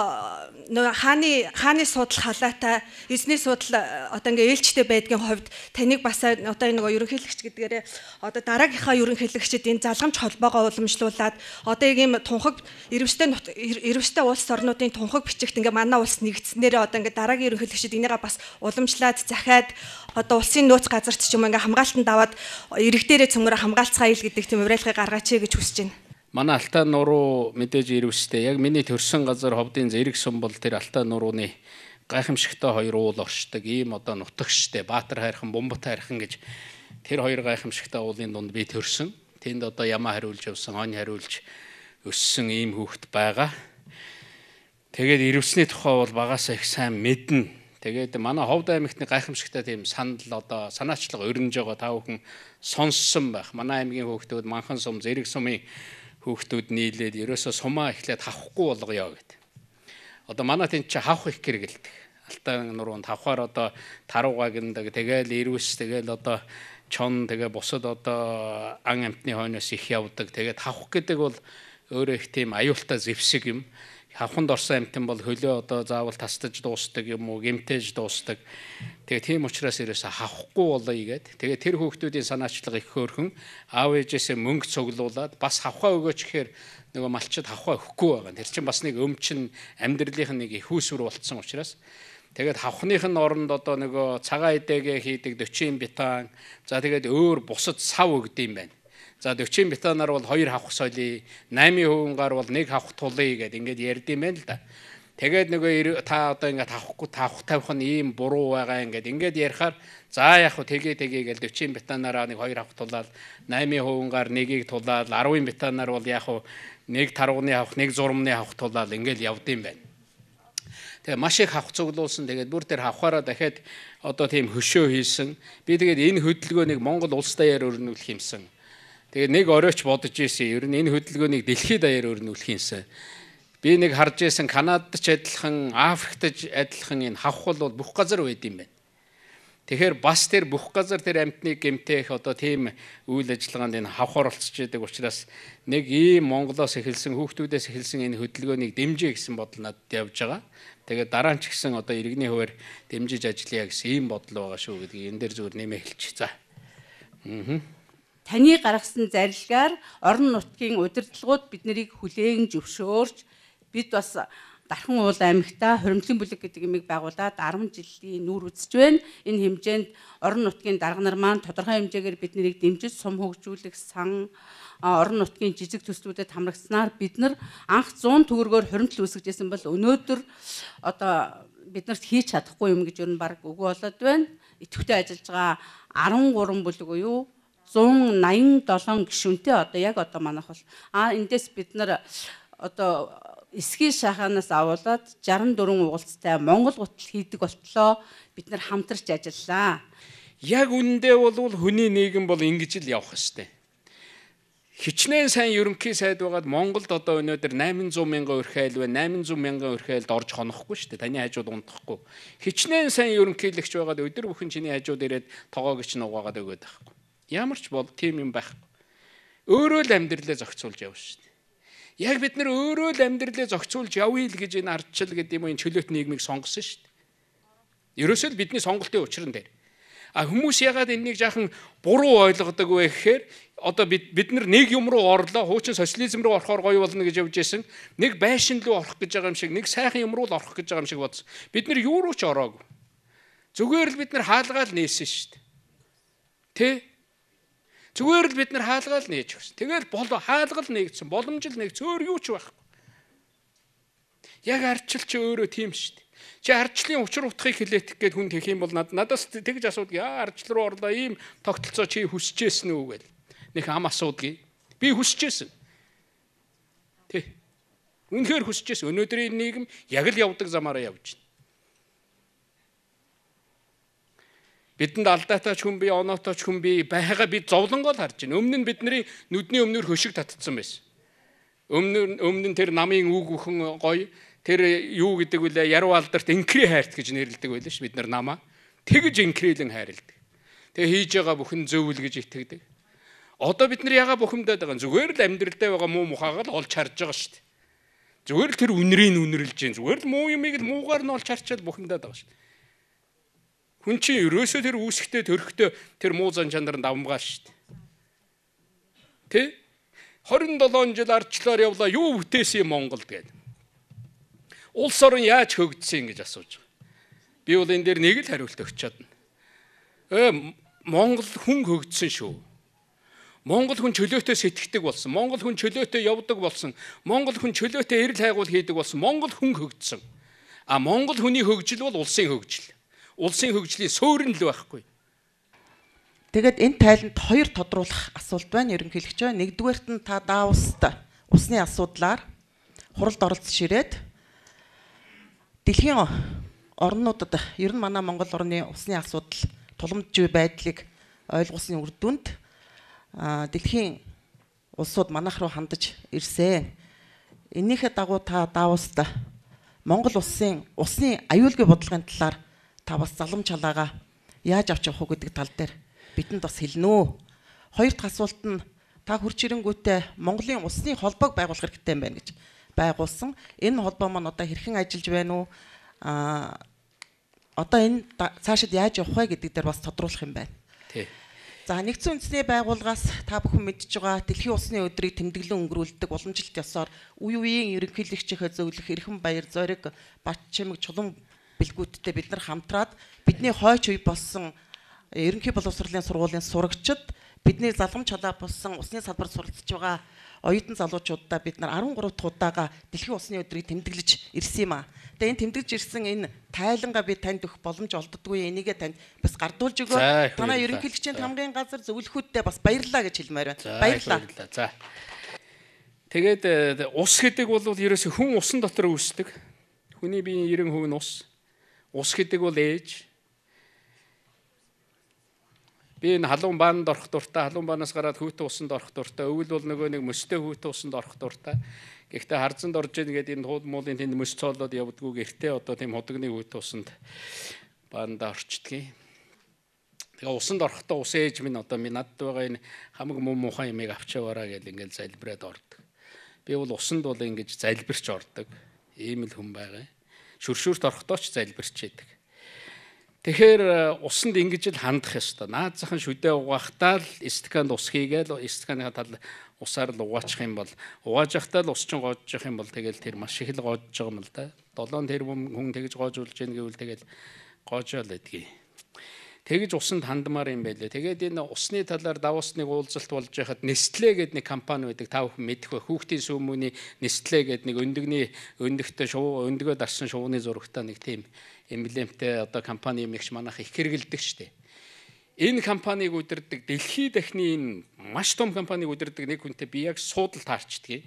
нөө хааны хааны суудал халаатай эзний суудал одоо ингээ ээлжтэй байдгийн хувьд таныг бас одоо энэ нөгөө ерөнхийлөгч гэдгээрээ одоо дараагийнхаа ерөнхийлөгч эрхлэгчид энэ залгамж холбоогоо уламжлуулад одоо ийм тунхаг ирвэстэй ирвэстэй улс орнуудын тунхаг бичигт ингээ манай улс нэгдснээрээ одоо ингээ дараагийн ерөнхийлөгчид энийгээ бас уламжлаад захиад одоо улсын нөөц газарт ч юм ингээ хамгаалтанд аваад иргэдээрээ цөмгөр хамгаалцгаа ил гэдэг тийм уриалгыг гаргаач гэж хүсэж байна. Манай Алтай нуруу мэдээж ирвэстэй яг миний төрсэн газар ховдын зэрэг сум бол тэр Алтай нурууны гайхамшигтай хоёр уул оршдог ийм одоо нутагштэй Баатар хайрхан, Бумбат хайрхан гэж тэр хоёр гайхамшигтай уулын дунд би төрсөн. Тэнд одоо ямаа хариулж явсан, хонь хариулж өссөн ийм хүүхэд байгаа. Тэгээд ирвэсний тухай бол багасаа их сайн мэднэ. Тэгээд манай Ховд аймагтны гайхамшигтай тийм санал одоо санаачлага өрнөж байгаа та бүхэн сонссон байх. Манай аймгийн хүүхдүүд Манхан сум, Зэрэг сумын хүүхдүүд нийлээд ерөөсөө сумаа эхлээд хавахгүй болгоё гэдэг. Одоо манай тэнд чи хавх их гэргэлдэг. Алтай нуруунд хавхаар одоо таруугаа гиндэг. Тэгээл ирвэс, тэгээл одоо чон, тэгээ бусад одоо ан амтны хойноос их явдаг. Тэгээд хавх гэдэг бол өөрөө их тийм аюултай зэвсэг юм. Хавханд орсон амтэн бол хөлөө одоо заавал тастаж дуустдаг юм уу, гэмтэж дуустдаг. Тэгээ тийм учраас ерөөсө хавхгүй болоё гэд. Тэгээ тэр хүүхдүүдийн санаачлага их хөөрхөн аав ээжээсээ мөнгө цуглуулад бас хавхаа өгөөч гэхээр нөгөө малчид хавхаа өгөхгүй байгаа. Тэр чинь бас нэг өмчин амьдралынх нь нэг их үүсвэр болцсон учраас тэгээд хавхныхын оронд одоо нөгөө цагаан эдээгээ хийдэг дöчийн бетан, за тэгээд өөр бусад сав өгд юм байна. За дöчийн бетанаар бол хоёр хавх солиё, восемь хувиар бол нэг хавх тулъя гэд ингээд ярьд юм байна л да. Тэгээд нөгөө та одоо ингээд хавхгүй тавх тавих нь ийм буруу байгаа ингээд ингээд ярихаар за яг хөө тгээ тгээ гэл дöчийн бетанаараа нэг хоёр хавх тулаад восемь хувиар нэгийг тулаад десять бетанаар бол яг хөө нэг тарууны хавх, нэг зурмны хавх тулаад ингээд явд юм байна. Тэгээ маш их хавх цуглуулсан. Тэгээд бүр тэр хавхаараа дахиад одоо тийм хөшөө хийсэн. Би тэгээд энэ хөдөлгөөнийг Монгол улс даяар өрнүүлэх юмсан. Тэгээд нэг оройч бодож ийсэн. Ер нь энэ хөдөлгөөнийг дэлхийд даяар өрнүүлэх юмсан. Би нэг харж ийсэн Канадад ч адилхан, Африкт ч адилхан энэ хавх бол бүх газар байд юм байна. Тэгэхээр бас тэр бүх газар тэр амтны гэмтэх одоо тийм үйл ажиллагаанд энэ хавх оролцож байдаг учраас нэг ийм Монголоос эхэлсэн, хүүхдүүдээс эхэлсэн энэ хөдөлгөөнийг дэмжиж гэсэн бодол надад явж байгаа. Тэгээд дараа нь ч гэсэн одоо иргэний хуваар дэмжиж ажиллая гэсэн ийм бодол байгаа шүү гэдгийг энэ дээр зүгээр нэмээ хэлчих. За. Аа. Таны гаргасан зарилгаар орон нутгийн удирдлагууд биднийг хүлээн зөвшөөрч бид бас Дархан уул аймагта хуримтлын бүлэг гэдэг юмыг байгуулад арван жилийн нүүр үзэж байна. Энэ хэмжээнд орон нутгийн дарга нар маань тодорхой хэмжээгээр биднийг дэмжиж сум хөгжүүлэх сан орон нутгийн жижиг төслүүдэд хамрагцсанаар бид нар анх зуун төгрөгөөр хуримтлал үүсгэжсэн бол өнөөдөр одоо биднэрт хийж чадахгүй юм гэж юу н баг үгүй болоод байна. Идэвхтэй ажиллаж байгаа арван гурван бүлэг буюу зуун наян долоон гишүүнтэй одоо яг одоо манайх бол а эндээс бид нар одоо эсгийн шаханаас авуулаад шестьдесят четыре уулзтай Монгол гутал хийдэг болтлоо бид нар хамтарч ажиллаа. Яг үнэндээ бол хүний нийгэм бол ингэж л явах ёстой. Хичнээн сайн ерөнхий сайд байгаад Монголд одоо өнөөдөр восемь hundred мянган өрх айл байна. восемь hundred мянган өрх айлд орж хонохгүй шүү дээ. Таны хажууд унтахгүй. Хичнээн сайн ерөнхийлөгч байгаад өдөр бүхэн чиний хажууд ирээд тоогоогч нугаагаад өгöd байхгүй. Ямар ч бол тийм юм байхгүй. Өөрөө л амьдралаа зохицуулж явна шүү дээ. Яг бид нар өөрөө л амьдралаа зохицуулж явъя л гэж энэ ардчил гэдэг юм энэ чөлөөт нийгмийг сонгосон шүү дээ. Ерөөсөө л бидний сонголтын учир нь дээр. А хүмүүс ягаад энэнийг жаахан буруу ойлгодог вэ гэхээр одоо бид бид нар нэг юм руу орлоо, хуучин социализм руу орохоор гоё болно гэж явж байсан. Нэг байшин руу орох гэж байгаа юм шиг, нэг сайхан юм руу л орох гэж байгаа юм шиг бодсон. Бид нар юу руу ч ороогүй. Зүгээр л бид нар хаалгаал нээсэн шүү дээ. Тэ? Зүгээр л бид нар хаалгаал нээж өгсөн. Тэгэл бол хаалгал нээгдсэн, боломжил нээгдсэн, өөр юу ч байхгүй. Яг ардчил чи өөрөө тийм шүү дээ. Чи ардчлалын учир утгыг хилээдэх гээд хүн тэгэх юм бол надаас тэгж асуудаг. Яа ардчил руу орлоо ийм тогтолцоо чи хүсэжсэн үү гэл. Нэг ам асуудгийг. Би хүсэжсэн. Тэ. Үнэхээр хүсэжсэн. Өнөөдрийн нийгэм яг л явдаг замаараа явж байна. Бидэнд алдаатай ч хүн бий, оноотой ч хүн бий байгаа бид зовлонгоо л харж байна. Өмнө нь бидний нүдний өмнөр хөшиг татцсан байсан. Өмнө өмнө нь тэр намын үг өхөн гоё тэр юу гэдэг вүлээ яруу алдарт инкри хайрт гэж нэрлэдэг байлаа ш бид нар намаа. Тэгж инкрилэн хайрладаг. Тэгээ хийж байгаа бүхэн зөв л гэж итгэдэг. Одоо бид нар яга бухимдаад байгаа зүгээр л амьдралдаа байгаа муу мухаагаа л олж харж байгаа ш. Зүгээр л тэр үнрийг үнэрлж जैन. Зүгээр л муу юмыг л муугаар нь олж харчаад бухимдаад байгаа ш. Хүн чинь ерөөсөө тэр үүсгтээ төрхтөө тэр муу зан чанар давмгаа шүү дээ. Тэ? хорин долоон жил ардчлаар явлаа юу бүтээсэн Монголд гээд. Улс орон яаж хөгжсөн гэж асууж байгаа. Би бол энэ дээр нэг л хариулт өгч чадна. Э Монгол хүн хөгжсөн шүү. Монгол хүн чөлөөтэй сэтгэдэг болсон. Монгол хүн чөлөөтэй явдаг болсон. Монгол хүн чөлөөтэй эрэл хайгуул хийдэг болсон. Монгол хүн хөгжсөн. А Монгол хүний хөгжил бол улсын хөгжил. Улсын хөгжлийн суурин л байхгүй. Тэгээд энэ тайланд хоёр тодруулах асуулт байна. Ерөнхийлөгч байна. Нэгдүгээрт нь та Давост усны асуудлаар хуралд оролцож ирээд дэлхийн орнуудад ер нь манай Монгол орны усны асуудал туламжгүй байдлыг ойлгуулсны үр дүнд дэлхийн улсууд манайх руу хандаж ирсэн. Энийхээ дагуу та Давост Монгол улсын усны аюулгүй бодлогын талаар та бас залам чалаагаа яаж авч явах уу гэдэг тал дээр бидэнд бас хэлнэ үү. Хоёр дахь асуулт нь та хурц ирэнгүүтээ Монголын усны холбоог байгуулах хэрэгтэй юм байна гэж байгуулсан. Энэ холбоо маань одоо хэрхэн ажиллаж байна уу? Аа одоо энэ цаашид яаж явах вэ гэдэг дээр бас тодруулах юм байна. Тий. За нэгдсэн үндэсний байгууллагаас та бүхэн мэдж байгаа дэлхийн усны өдрийг тэмдэглэн өнгөрүүлдэг уламжлалт ёсоор үе үеийн ерөнхийлөгчийнхээ зөвлөх Эрхэм Баяр Зориг Батчимэг чулуун бэлгүүдтэй бид нар хамтраад бидний хойч үе болсон ерөнхий боловсролын сургуулийн сурагчид бидний залгамж чалаа болсон усны салбарт суралцж байгаа оюутан залуучуудаа бид нар арван гурав дахь удаага дэлхийн усны өдрийг тэмдэглэж ирсэн юм аа. Тэгээ энэ тэмдэглэж ирсэн энэ тайлангаа би танд өгөх боломж олддоггүй. Энийгээ танд бас гардуулж өгөө. Танаа ерөнхийлөгчийн хамгааллын газар зөвлөхүүдтэй бас баярлалаа гэж хэлмээр байна. Баярлалаа. За. Тэгээд ус гэдэг бол ерөөсөө хүн усан дотор үүсдэг. Хүний биеийн ерөн хувь нь ус. Ус гэдэг бол ээж. Би энэ халуун баанд орох дуртай, халуун баанаас гараад хүүтэн усанд орох дуртай. Өвөл бол нөгөө нэг мөстэй хүүтэн усанд орох дуртай. Гэхдээ харзанд орж ийн гэдэг энэ хууд муулын тэнд мөс цоолоод явдггүй гэртээ одоо тийм худагны хүүтэн усанд баанда орчдгийг. Тэгээ усанд орохдоо ус ээж минь одоо минь надд байгаа энэ хамаг муу муухай юмыг авчаавараа гэл ингээл залбираад ордог. Би бол усанд бол ингэж залбирч ордог. Ийм л хүн байгаа. Шүршүүрт орохдоо ч залбирч яадаг. Тэгэхээр усанд ингэж л хандах ёстой. Наад захын шүдээ угаахтаа л стаканд ус хийгээл стаканыхаа тал усаар л угаачих юм бол угааж явахдаа л ус чин гоожж явах юм бол тэгэл тэр маш их л гоожж байгаа юм л да. долоон тэрбум хүн тэгж гоожулж ийн гэвэл тэгэл гоожоо л байдгийг. Тэгж усанд хандмаар юм байлээ. Тэгээд энэ усны талаар Давосныг уулзалт болж байхад Nestlé гэдэг нэг компани байдаг. Та бүхэн мэдэх бай. Хүүхдийн сүүмүүний Nestlé гэдэг нэг өндөгний өндөгтэй шуу өндөгөө дарсан шууны зурагтай нэг тийм эмблемтэй одоо компани юм ихч манайх их хэрэгэлдэг штеп. Энэ компаниг удирдах дэлхийд дахны энэ маш том компаниг удирдах нэг хүнтэй би яг суудал таарчдгийг.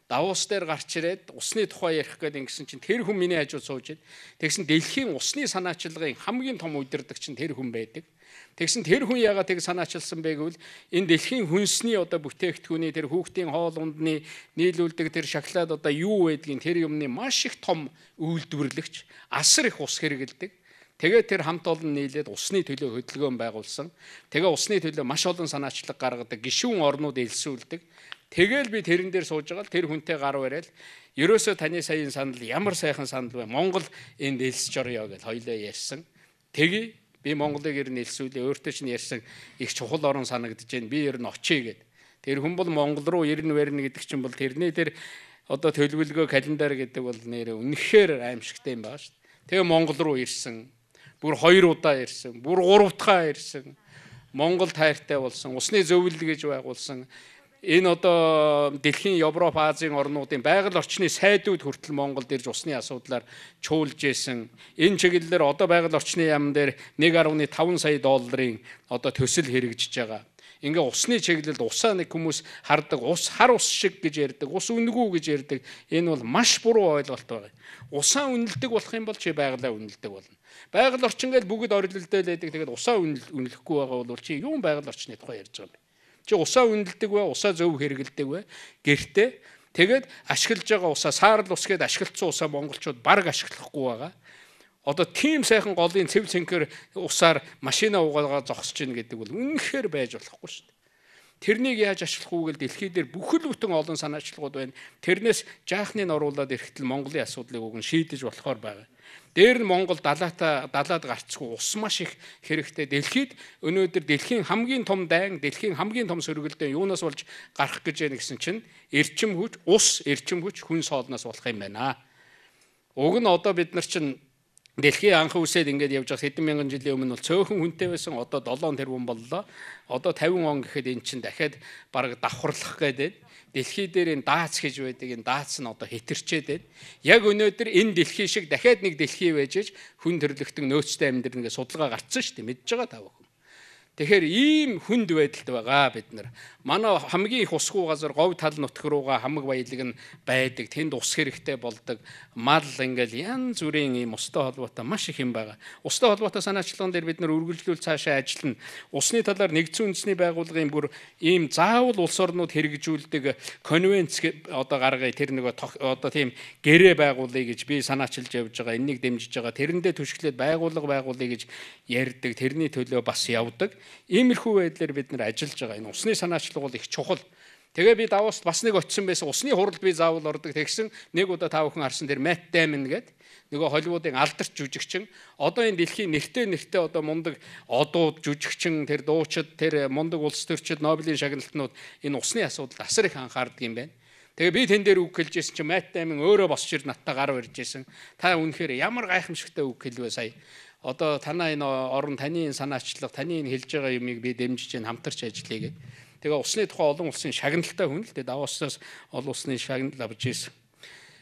Давос дээр гарч ирээд усны тухай ярих гэдэг ингэсэн чинь тэр хүн миний хажууд сууж ид. Тэгсэн дэлхийн усны санаачилгын хамгийн том удирдагч нь тэр хүн байдаг. Тэгсэн тэр хүн яагаад тэг санаачилсан бэ гэвэл энэ дэлхийн хүнсний одоо бүтээгдэхүүний тэр хүүхдийн хоол ундны нийлүүлдэг тэр шоколад одоо юу байдгийг тэр юмны маш их том үйлдвэрлэгч асар их ус хэрэгэлдэг. Тэгээд тэр хамт олон нийлээд усны төлөө хөдөлгөөн байгуулсан. Тэгээ усны төлөө маш олон санаачлаг гаргадаг гишүүн орнууд элсүүлдэг. Тэгэл би тэрэн дээр сууж байгаа л тэр хүнтэй гар барайл. Ерөөсөө таны саяын санал ямар сайхан санал вэ? Монгол энд элсэж орё гэж хоёлоо ярьсан. Тэгээ би Монголыг ер нь элсүүлээ. Өөртөө ч ярьсан их чухал орон санагдаж байна. Би ер нь очие гэд. Тэр хүн бол Монгол руу ирнэ барьна гэдэг чинь бол тэрний тэр одоо төлөвлөгөө календар гэдэг бол нэр үнэхээр аимшигтай юм байна шүү дээ. Тэгээ Монгол руу ирсэн. Бүр хоёр удаа ирсэн. Бүр гурав дахь ирсэн. Монгол тайртай болсон. Усны зөвлөл гэж байгуулсан. Энэ одоо дэлхийн Европ, Азийн орнуудын байгаль орчны сайдууд хүртэл Монголд ирж усны асуудлаар чуулж исэн. Энэ чиглэлээр одоо байгаль орчны яам дээр нэг гаруй таван сая долларын одоо төсөл хэрэгжиж байгаа. Ингээ усны чиглэлд усаа нэг хүмүүс хардаг, ус хар ус шиг гэж ярьдаг, ус үнгүү гэж ярьдаг. Энэ бол маш буруу ойлголт байгаа. Усаа үнэлдэг болох юм бол чи байгалаа үнэлдэг болно. Байгаль орчин гэж бүгд орилолтой л байдаг. Тэгээд усаа үнэлэхгүй байгаа бол чи юу байгаль орчны тухай ярьж байгаа юм бэ? Чи усаа үнэлдэг вэ? Усаа зөв хэрэгэлдэг вэ? Гэртээ тэгээд ашиглаж байгаа усаа саарл ус гээд ашиглацсан усаа монголчууд бараг ашиглахгүй байгаа. Одоо тийм сайхан голын цэв цэнхэр усаар машина угаагаа зогсож ийн гэдэг бол үнэхээр байж болохгүй шүү дээ. Тэрнийг яаж ашиглах уу гэж дэлхий дээр бүхэл бүтэн олон санаачлагууд байна. Тэрнээс жаахныг оруулаад ирэхдээ Монголын асуудлыг уг нь шийдэж болохоор байгаа. Дээр нь Монгол далаатаа далаад гарцгүй ус маш их хэрэгтэй. Дэлхийд өнөөдөр дэлхийн хамгийн том дайн, дэлхийн хамгийн том сөргөлдөө юунаас болж гарах гэж яана гэсэн чинь эрчим хүч, ус, эрчим хүч, хүн соолноос болох юм байна. Уг нь одоо бид нар чинь дэлхийн анх үсээд ингээд явж байгаа хэдэн мянган жилийн өмнө бол цөөхөн хүнтэй байсан. Одоо долоон тэрбум боллоо. Одоо тавин он гэхэд эн чинь дахиад бараг давхарлах гэдэг. Дэлхий дээр энэ даац гэж байдаг энэ даац нь одоо хэтэрчээд байна. Яг өнөөдөр энэ дэлхий шиг дахиад нэг дэлхий байж хүн төрлөختөн нөөцтэй амьдрын гэж судалгаа гарцсан шүү дээ. Мэдж байгаа та бүхэн. Тэгэхээр ийм хүнд байдалд байгаа бид нар. Манай хамгийн их усгүй газар говь тал нутг руугаа хамаг баялаг нь байдаг. Тэнд ус хэрэгтэй болдог. Мал ингээл янз бүрийн ийм устай холбоотой маш их юм байгаа. Устай холбоотой санаачлагын дээр бид нар үргэлжлүүл цаашаа ажиллана. Усны талаар нэгдсэн үндэсний байгууллагын бүр ийм заавал улс орнууд хэрэгжүүлдэг конвенц одоо гаргая. Тэр нөгөө одоо тийм гэрээ байгуулъя гэж би санаачилж явж байгаа. Энийг дэмжиж байгаа. Тэрэндээ түшиглээд байгууллага байгуулъя гэж ярьдаг. Тэрний төлөө бас явдаг. Иймэрхүү байдлаар бид нар ажиллаж байгаа. Энэ усны санаачлал бол их чухал. Тэгээ би Давост бас нэг очисон байсан. Усны хуралд би заавал ордог. Тэгсэн нэг удаа та бүхэн харсан дээр Matt Damon гэдэг нөгөө Холливуудын алдарч жүжигчин. Одоо энэ дэлхийн нэртэй нэртэй одоо мундаг одууд жүжигчин, тэр дуучид, тэр мундаг улс төрчид, Нобелийн шагналтнууд энэ усны асуудалд асар их анхаардаг юм байна. Тэгээ би тэн дээр үг хэлжсэн чинь Matt Damon өөрөө босч ир надтай гар барьжсэн. Та үнэхээр ямар гайхамшигтай үг хэлвэ сая. Одоо танаа энэ орон таны энэ санаачлага, таны энэ хэлж байгаа юмыг би дэмжиж энэ хамтарч ажиллая гэдэг. Тэгээ усны тухай олон улсын шагналтай хүн л дээ Давоосоос олон улсны шагнал авч ирсэн.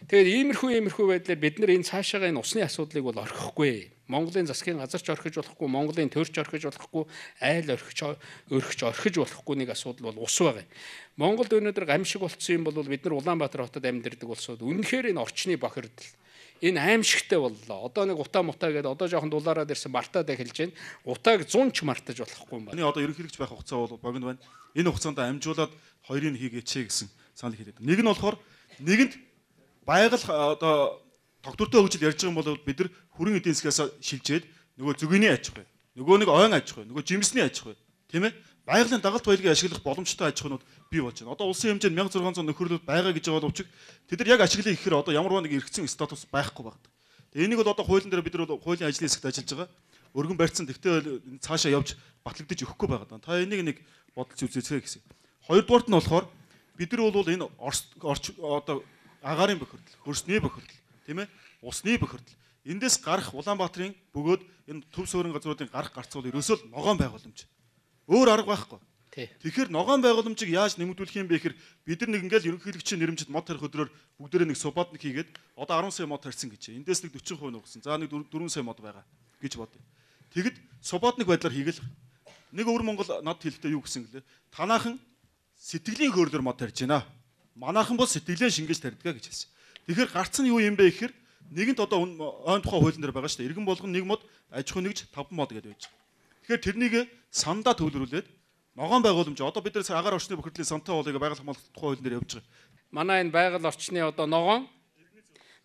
Тэгээд иймэрхүү иймэрхүү байдлаар бид нар энэ цаашаага энэ усны асуудлыг бол орхихгүй. Монголын засгийн газарч орхиж болохгүй, Монголын төрч орхиж болохгүй, айл орхиж өрхөж орхиж болохгүй нэг асуудал бол ус байгаа. Монголд өнөөдөр гамшиг болцсон юм бол бид нар Улаанбаатар хотод амьдардаг улсууд үнэхээр энэ орчны бохирдол энэ аимшигтай боллоо. Одоо нэг утаа мутаа гэдэг одоо жоохон дулаараад ирсэн мартаад эхэлж байна. Утааг зунч мартаж болохгүй юм байна. Эний одоо ерөнхийлөгч байх хугацаа бол богино байна. Энэ хугацаанд амжуулаад хоёрыг хийгээч гэсэн санал хэлээд. Нэг нь болохоор нэгэнд байгаль одоо тогтвортой хөгжил ярьж байгаа юм бол бид нар хүрэн эдийн засгаас шилжээд нөгөө зөгөөний аж ахуй, нөгөө нэг ойн аж ахуй, нөгөө жимсний аж ахуй, тийм ээ? Байгалийн дагалт баялагийг ашиглах боломжтой аж ахуйнууд бий болж байна. Одоо улсын хэмжээнд мянга зургаан зуун нөхөрлөл байгаа гэж байгаа боловч тэд нар яг ашиглая гэхээр одоо ямар нэг эргэцэн статус байхгүй байна. Тэгээ энийг бол одоо хуулийн дээр бид нар хуулийн ажлын хэсэгт ажиллаж байгаа. Өргөн барьцсан тэгтээ цаашаа явж батлагдаж өгөхгүй байгаа. Та энийг нэг бодолж үзээцгээ гэсэн. Хоёрдугаарт нь болохоор бид нар бол энэ орч одоо агаарын бохирдол, хөрсний бохирдол, тийм ээ? Усны бохирдол. Эндээс гарах Улаанбаатарын бөгөөд энэ төв суурин газруудын гарах гарцуул ерөөсөө л ногоон байгууламж. Өөр арга байхгүй. Тэгэхээр ногоон байгууламжийг яаж нэмэгдүүлэх юм бэ гэхээр бид нар нэг ингээл ерөнхийлөгчийн нэрмжид мод тарих өдрөөр бүгдээрээ нэг суббатник хийгээд одоо арван сая мод тарьсан гэж. Эндээс нэг дөрвөн хувь нугсан. За нэг дөрвөн сая мод байгаа гэж бодъё. Тэгэд суббатник байдлаар хийгээл нэг өвөр Монгол над хэлэхдээ юу гэсэн гэлээ? Танаахан сэтгэлийн хөөрлөөр мод тарьж байна. Манаахан бол сэтгэлээ шингээж тарьдгаа гэж хэлсэн. Тэгэхээр гарц нь юу юм бэ гэхээр нэгэнт одоо ойн тухай хуулийн дээр байгаа шүү дээ. Иргэн болгон нэг мод, аж ахуй нэгж таван мод гэдэг байж байгаа. Тэгэхээр тэрнийг сандаа төвлөрүүлээд ногоон байгууламж одоо бид нар агаар орчны бохирдлын сантай болыг байгаль хамгаалалт тухай хуулийн дээр явж байгаа. Манай энэ байгаль орчны одоо ногоон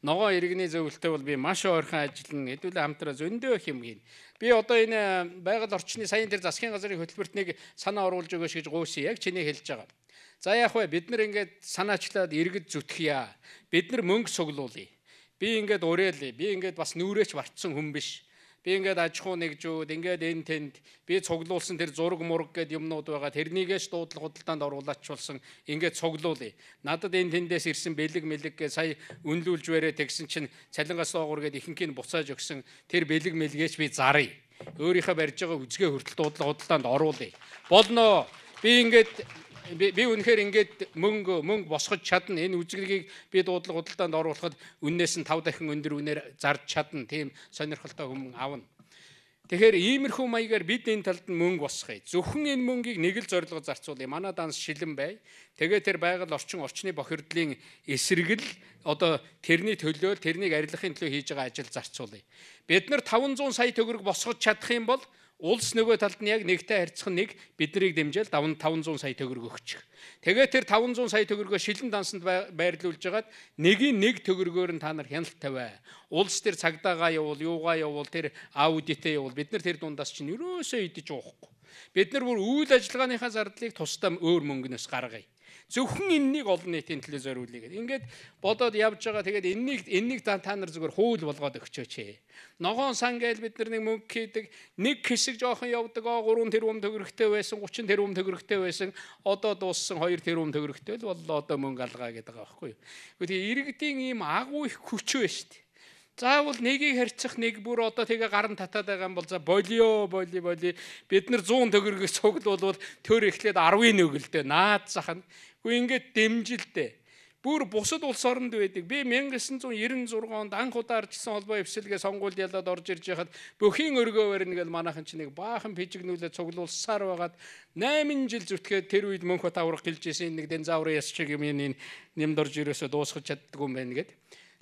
ногоон иргэний зөвлөлтөй бол би маш ойрхон ажиллана. Хэдүүлээ хамтраа зөндөө их юм хийн. Би одоо энэ байгаль орчны саяын тэр засгийн газрын хөтөлбөрт нэг санаа оруулж өгөөш гэж гуйсан. Яг чиний хэлж байгаа. За яах вэ? Бид нар ингээд санаачлаад иргэд зүтгэе. Бид нар мөнгө суглуулъя. Би ингээд уриалъя. Би ингээд бас нүрээч вартсан хүн биш. Би ингээд аж ахуй нэгжүүд ингээд энэ тэнд би цуглуулсан тэр зураг мураг гэд юмнууд байгаа. Тэрнийгээш дуудлага худалдаанд оруулаачулсан ингээд цуглуулъя. Надад энэ тэндээс ирсэн бэлэг мэлэг гэ сая үнлүүлж барээ тэгсэн чинь цалингаас доогуур гэд ихэнхийг буцааж өгсөн тэр бэлэг мэлгээч би заръя. Өөрийнхөө барьж байгаа үзгээ хүртэл дуудлага худалдаанд оруулъя. Болно. Би ингээд би үнэхээр ингээд мөнгө мөнгө босгож чадна. Энэ үзгэлгийг би дуудлага худалдаанд оруулахад үннээс нь тав дахин өндөр үнээр зарж чадна. Тийм сонирхолтой хүмүүс аавна. Тэгэхээр иймэрхүү маягаар бид энэ талд нь мөнгө босгоё. Зөвхөн энэ мөнгийг нэг л зорилгоор зарцуулъя. Манай данс шилэн бай. Тэгээ тэр байгаль орчин орчны бохирдлын эсрэг л одоо тэрний төлөө тэрнийг арилгахын төлөө хийж байгаа ажил зарцуулъя. Бид нар таван зуун сая төгрөг босгож чадах юм бол улс нөгөө талд нь яг нэгтэй харьцах нэг биднийг дэмжээл таван зуун сая төгрөг өгчих. Тэгээд тэр таван зуун сая төгрөгөө шилэн дансанд байрлуулж хагаад нэгийн нэг төгрөгөөр нь та нар хяналт тавиа. Улс тэр цагдаагаа явуул, юугаа явуул, тэр аудитээ явуул. Бид нар тэр дундаас чинь ерөөсөө идэж уухгүй. Бид нар бүр үйл ажиллагааныхаа зардлыг тусдаа өөр мөнгнөөс гаргая. Зөвхөн энэнийг олон нийтийн төлөө зориулъя гэдэг. Ингээд бодоод явж байгаа. Тэгээд энэнийг энэнийг та нар зүгээр хууль болгоод өгчөөч. Ногоон сан гээл бид нар нэг мөнгө хийдэг. Нэг хэсэг жоохон явдаг. гурван тэрбум төгрөгтэй байсан, гучин тэрбум төгрөгтэй байсан. Одоо дууссан хоёр тэрбум төгрөгтэй л боллоо одоо мөнгө алгаа гэдэг байгаа байхгүй юу. Гэхдээ иргэдийн ийм агуу их хүч байна шүү дээ. Заавал нэгийг харьцах нэг бүр одоо тэгээ гаран татаад байгаа юм бол за болио боли боли бид нар зуун төгрөгөс цуглуулвал төр эхлээд арвын нөгөлдөө наад захна. Гэхдээ ингээд дэмжилтэй. Бүр бусад улс оронд байдаг. Би 천구 девятьсот девяносто шесть онд анх удаа арчсан холбоо эвсэлгээ сонгуульд ялаад орж ирж байхад бүхийн өргөө барина гэж манайхан ч нэг баахан пижигнүүлээ цуглуулсаар байгаад восемь жил зүтгээд тэр үед мөнх таврах гэлжсэн нэг динзаврын яс шиг юм энэ нэмд орж ирээсээ дуусгаж чаддгүй юм байна гэд.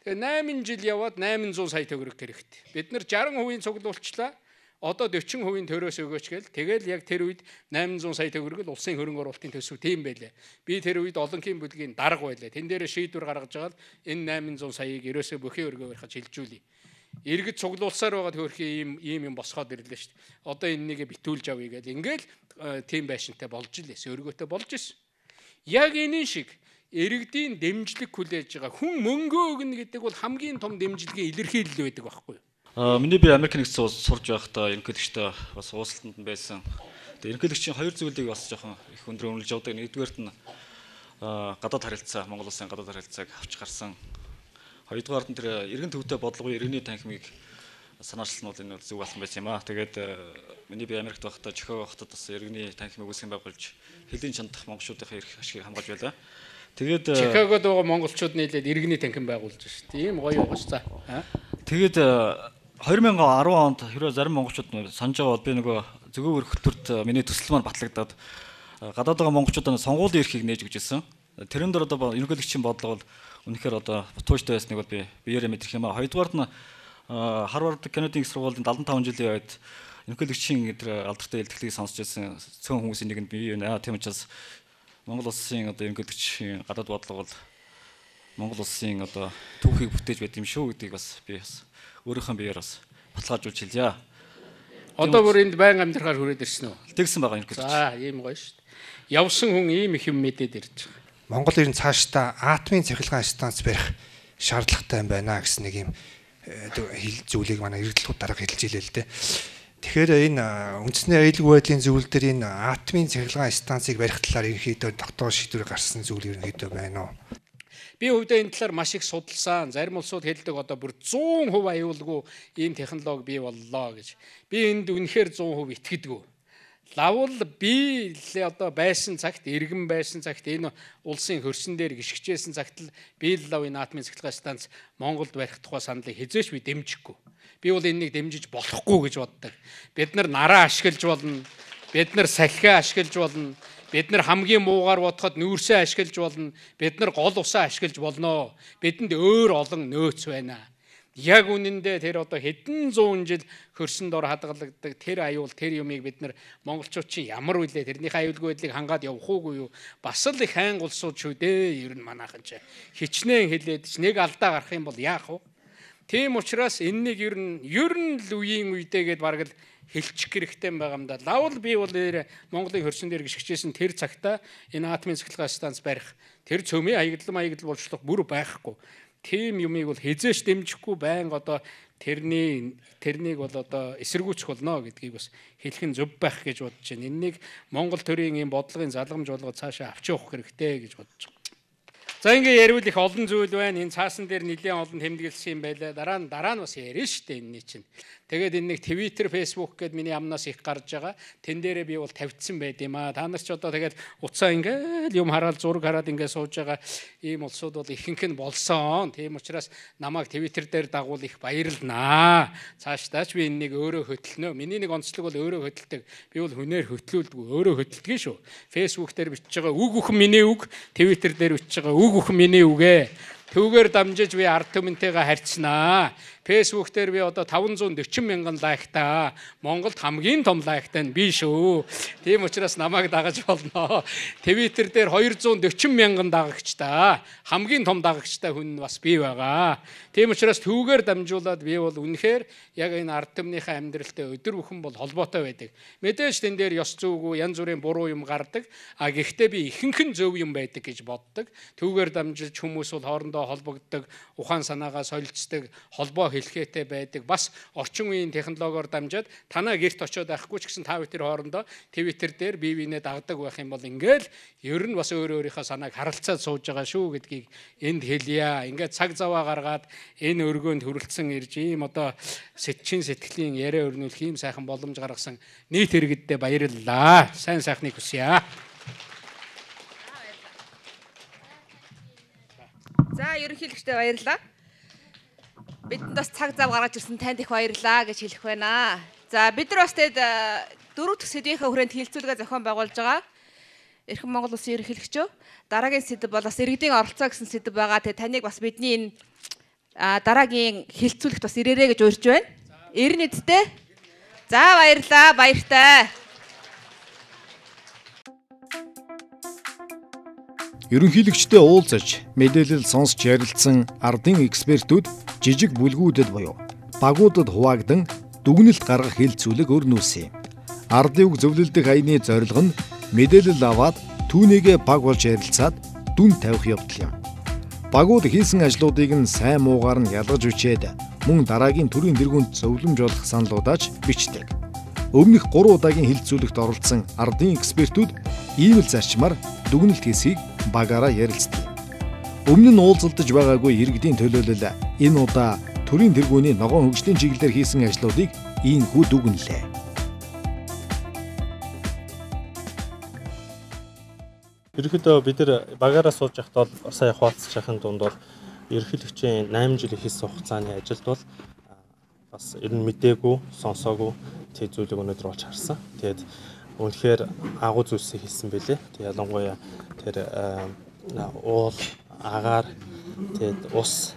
Тэгээ восемь жил яваад восемьсот сая төгрөг хэрэгтэй. Бид нар sixty percent цуглуулчлаа. Одоо forty percent төрөөс өгөөч гээл. Тэгэл яг тэр үед восемьсот сая төгрөг л улсын хөрөнгө оруулалтын төсөв тийм байлаа. Би тэр үед олонхын бүлгийн дарга байлаа. Тэн дээр шийдвэр гаргаж байгаа л энэ восемьсот саяыг ерөөсөө бүхий өргөө барихад шилжүүлье. Иргэд цуглуулсаар байгаа төрхийн ийм ийм юм босгоод ирлээ шүү дээ. Одоо энэнийг битүүлж авъя гээл. Ингээл тийм байшинтай болж илээс өргөөтэй болж исэн. Яг энэ шиг иргэдийн дэмжлэг хүлээж байгаа хүн мөнгө өгнө гэдэг бол хамгийн том дэмжлэгийн илэрхийлэл байдаг байхгүй юу? Аа миний би Америк нэгдсэн улс сурж байхдаа ерөнхийлөгчтэй бас уулзалтанд байсан. Тэгээ ерөнхийлөгчийн хоёр зүйлийг бас жоохон их өндөр үнэлж явдаг. Нэгдүгээрт нь гадаад харилцаа, Монгол улсын гадаад харилцааг авч гарсан. Хоёрдугаарт нь тэр иргэн төвтэй бодлогын иргэний танхимыг санаачлал нь бол энэ зөв болсон байсан юм аа. Тэгээд миний би Америкт байхдаа Чикаго хотод бас иргэний танхимыг үүсгэн байгуулж хэлийн чандах монголчуудын эрх ашгийг хамгаалж байлаа. Тэгээд Чикагод байгаа монголчууд нийлээд иргэний танхим байгуулж шүү дээ. Ийм гоё юм байна. Тэгээд two thousand ten онд хэрвээ зарим монголчууд санаж байгаа бол би нөгөө зөвгөөр хөтөлбөрт миний төсөл маань батлагдаад гадаад байгаа монголчуудаа сонгуулийн эрхийг нээж өгч ирсэн. Тэрэн дээр одоо ерөнхийлөгчийн бодлого бол үнэхээр одоо тууштай байсныг бол би биеэрээ мэдэрх юм аа. Хоёрдугаарт нь Харвард Канадын их сургуулийн seventy-five жилийн үед ерөнхийлөгчийн тэр алдартай илтгэлийг сонсч байсан цөөн хүмүүсийн нэгэнд би юу нэ. Тийм учраас Монгол улсын одоо ерөнхийлөгчийн гадаад бодлого бол Монгол улсын одоо түүхийг бүтээж байт юм шүү гэдгийг бас би бас өөрийнхөө биеэр бас баталгаажуулж хэлье. Одоо бүр энд байн амьдрахаар хүрээд ирсэн үү? Тэгсэн байгаа ерөнхийлөгч. За ийм гоё шүү дээ. Явсан хүн ийм их юм мэдээд ирж байгаа. Монгол ер нь цаашдаа атомын цахилгаан станц барих шаардлагатай юм байна гэсэн нэг юм зүйлийг манай эрдэлтүүд дарга хэлж илээ л дээ. Тэгэхээр энэ үндэсний аюулгүй байдлын зөвлөл дээр энэ атомын цахилгаан станцыг барих талаар ерөнхийдөө тогтоох шийдвэр гаргасан зүйл ерөнхийдөө байна уу? Би өвдөө энэ талаар маш их судалсан. Зарим улсууд хэлдэг одоо бүр one hundred percent аюулгүй ийм технологи бий боллоо гэж. Би энд үнэхээр one hundred percent итгэдэггүй. Лавл би л одоо байсан цагт, иргэн байсан цагт энэ улсын хөрсөн дээр гიშгчээсэн цагт л би л лав энэ атомын цахилгаан станц Монголд барих тухай саналыг хизээш би дэмжихгүй. Би бол энэнийг дэмжиж болохгүй гэж боддог. Бид нар нараа ашиглаж болно. Бид нар салхиа ашиглаж болно. Бид нар хамгийн муугаар бодоход нүүрсээ ашиглаж болно. Бид нар гол усаа ашиглаж болно. Бидэнд өөр олон нөөц байна. Яг үнэндээ тэр одоо хэдэн зуун жил хөрсөнд ор хадгалагддаг тэр аюул тэр юмыг бид нар монголчууд чинь ямар үлээ тэрнийхээ аюулгүй байдлыг хангаад явах уугүй юу? Бас л их хайн улсууд шүү дээ. Ер нь манайхан ч хичнээн хэлээд ч нэг алдаа гарах юм бол яах вэ? Тийм учраас энэнийг ер нь ер нь л үеийн үедээ гээд бараг л хэлчих хэрэгтэй байгаа юм да. Лавл би бол Монголын хөрсөн дээр гიშгчээсэн тэр цагта энэ атомын цахилгаан станц барих тэр цөмийн хаягдлан маягдл болчлох бүр байхгүй. Тийм юмыг бол хизээш дэмжихгүй байнга одоо тэрний тэрнийг бол одоо эсэргүүцэх болно гэдгийг бас хэлэх нь зөв байх гэж бодож байна. Энэнийг Монгол төрийн ийм бодлогын залгамж болгоод цаашаа авч явах хэрэгтэй гэж бодож байна. За ингээ ярил их олон зүйл байна. Энэ цаасан дээр нэлээд олон тэмдэглэсэн юм байлаа. Дараа нь дараа нь бас ярина шүү дээ энэний чинь. Тэгээд энэ нэг Twitter, Facebook гэд миний амнаас их гарч байгаа. Тэн дээрээ би бол тавьдсан байд юм аа. Та нар ч одоо тэгээд уцаа ингээл юм хараад зураг хараад ингээ сууж байгаа ийм улсууд бол ихэнх нь болсон. Тийм учраас намайг Twitter дээр дагуул их баярлнаа. Цаашдаач би энэнийг өөрөө хөтлөнө. Миний нэг онцлог бол өөрөө хөтэлдэг. Би бол хүнээр хөтлүүлдэг. Өөрөө хөтэлдэг шүү. Facebook дээр бичиж байгаа үг үхэн миний үг, Twitter дээр бичиж байгаа үг үхэн миний үгэ. Түүгээр дамжиж би ард түмэнтэйгээ харьцнаа. Facebook дээр би одоо таван зуун дөрвөн мянган лайктай. Монголд хамгийн том лайктай нь би шүү. Тийм учраас намайг дагаж болно. Twitter дээр хоёр зуун дөрвөн мянган дагагчтай. Хамгийн том дагагчтай хүн нь бас би байгаа. Тийм учраас түүгээр дамжуулаад би бол үнэхээр яг энэ ард түмнийхээ амьдралтай өдөр бүхэн бол холбоотой байдаг. Мэдээж тэн дээр ёс зүйгүй янз бүрийн буруу юм гардаг. А гэхдээ би ихэнхэн зөв юм байдаг гэж боддог. Түүгээр дамжуулж хүмүүс бол хоорондоо холбогддог, ухаан санаагаа солилцдог, холбоо хэлхээтэй байдаг. Бас орчин үеийн технологиор дамжаад танаа гэрт очиод байхгүй ч гэсэн та бүхэн хоорондоо Twitter дээр бие биенээ дагдаг байх юм бол ингээл ер нь бас өөр өөрийнхөө санааг харалцаад сууж байгаа шүү гэдгийг энд хэлье. Ингээд цаг заваа гаргаад энэ өргөөнд хүрэлцэн ирж ийм одоо сэтчин сэтгэлийн яриа өрнүүлэх ийм сайхан боломж гаргасан нийт иргэддээ баярлалаа. Сайн сайхныг хүсье. За ерөнхийлөгчдөө баярлалаа. Бидэнд бас цаг зав гаргаж ирсэн танд их баярлалаа гэж хэлэх байна. За бид нар бас тэгээд дөрөв дэх сэдвийнхээ хүрээнд хилцүүлгээ зохион байгуулж байгаа. Эрхэм Монгол Улсын ерөнхийлөгчөө дараагийн сэдв бол бас иргэдийн оролцоо гэсэн сэдв байгаа. Тэгээд таныг бас бидний энэ дараагийн хилцүүлэгт бас ирээрэй гэж урьж байна. Ирнэ үсттэй. За баярлалаа, баяртай. Ерөнхийлөгчтэй уулзаж, мэдээлэл сонсч ярилцсан ардын экспертүүд жижиг бүлгүүдэд буюу багуудад хуваагдан дүгнэлт гаргах хилцүүлэг өрнүүлсэн юм. Ардын үг зөвлөлдөх аяны зорилго нь мэдээлэл аваад түүнийгээ баг болж ярилцаад дүн тавих явдал юм. Багууд хийсэн ажлуудыг нь сайн муугаар нь ялгаж үчээд мөн дараагийн төрийн тэргуунд зөвлөмж олох саналуудаач бичдэг. Өмнөх гурван удаагийн хилцүүлэгт оролцсон ардын экспертүүд ийм л зарчмаар дүгнэлт хийсийг багаараа ярилцдаг. Өмнө нь уулзалдаж байгаагүй иргэдийн төлөөлөл энэ удаа төрийн тэргүүний ногоон хөгжлийн чиглэлээр хийсэн ажлуудыг ийхүү дүгнэлээ. Ерөнхийдөө бид нар багаараа сууж байхдаа бол сая хуваалцж байхын дунд бол ерөнхийлөгчийн найман жилийн хийсэн хугацааны ажилд бол бас ер нь мдээгүй, сонсоогүй тэг зүйлийг өнөөдөр болж харсан. Тэгээд үнэхээр агуу зүйлсийг хийсэн байлээ. Тэг ялангуяа тэр уул, агаар, тэгээд ус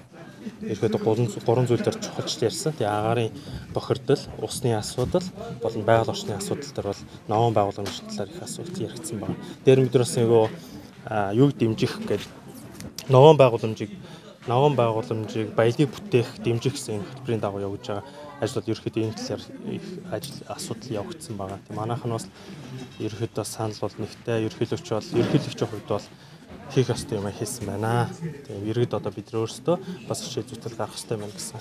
ерөөдөө гурван зүйл дээр чухалч ярьсан. Тэгээ агаарын бохирдол, усны асуудал болон байгаль орчны асуудал дээр бол новон байгууламжийн талаар их асуулт яригдсан байна. Дээр мэдрэс нөгөө юуг дэмжих гэдэг новон байгууламжийг новон байгууламжийг баялагийг бүтээх дэмжих гэсэн хөтөлбөрийн дагуу явуулж байгаа ажлууд ерөөхдөө энэ талаар их ажил асуудал явагдсан байгаа. Тийм манайх нь бас ерөөхдөө санал бол нэгтэй ерөнхийлөгч бол ерөнхийлөгчийн хувьд бол хийх ёстой юм хийсэн байна. Тэгээ иргэд одоо бид өөрсдөө бас хичээл зүтгэл гаргах ёстой байна гэсэн.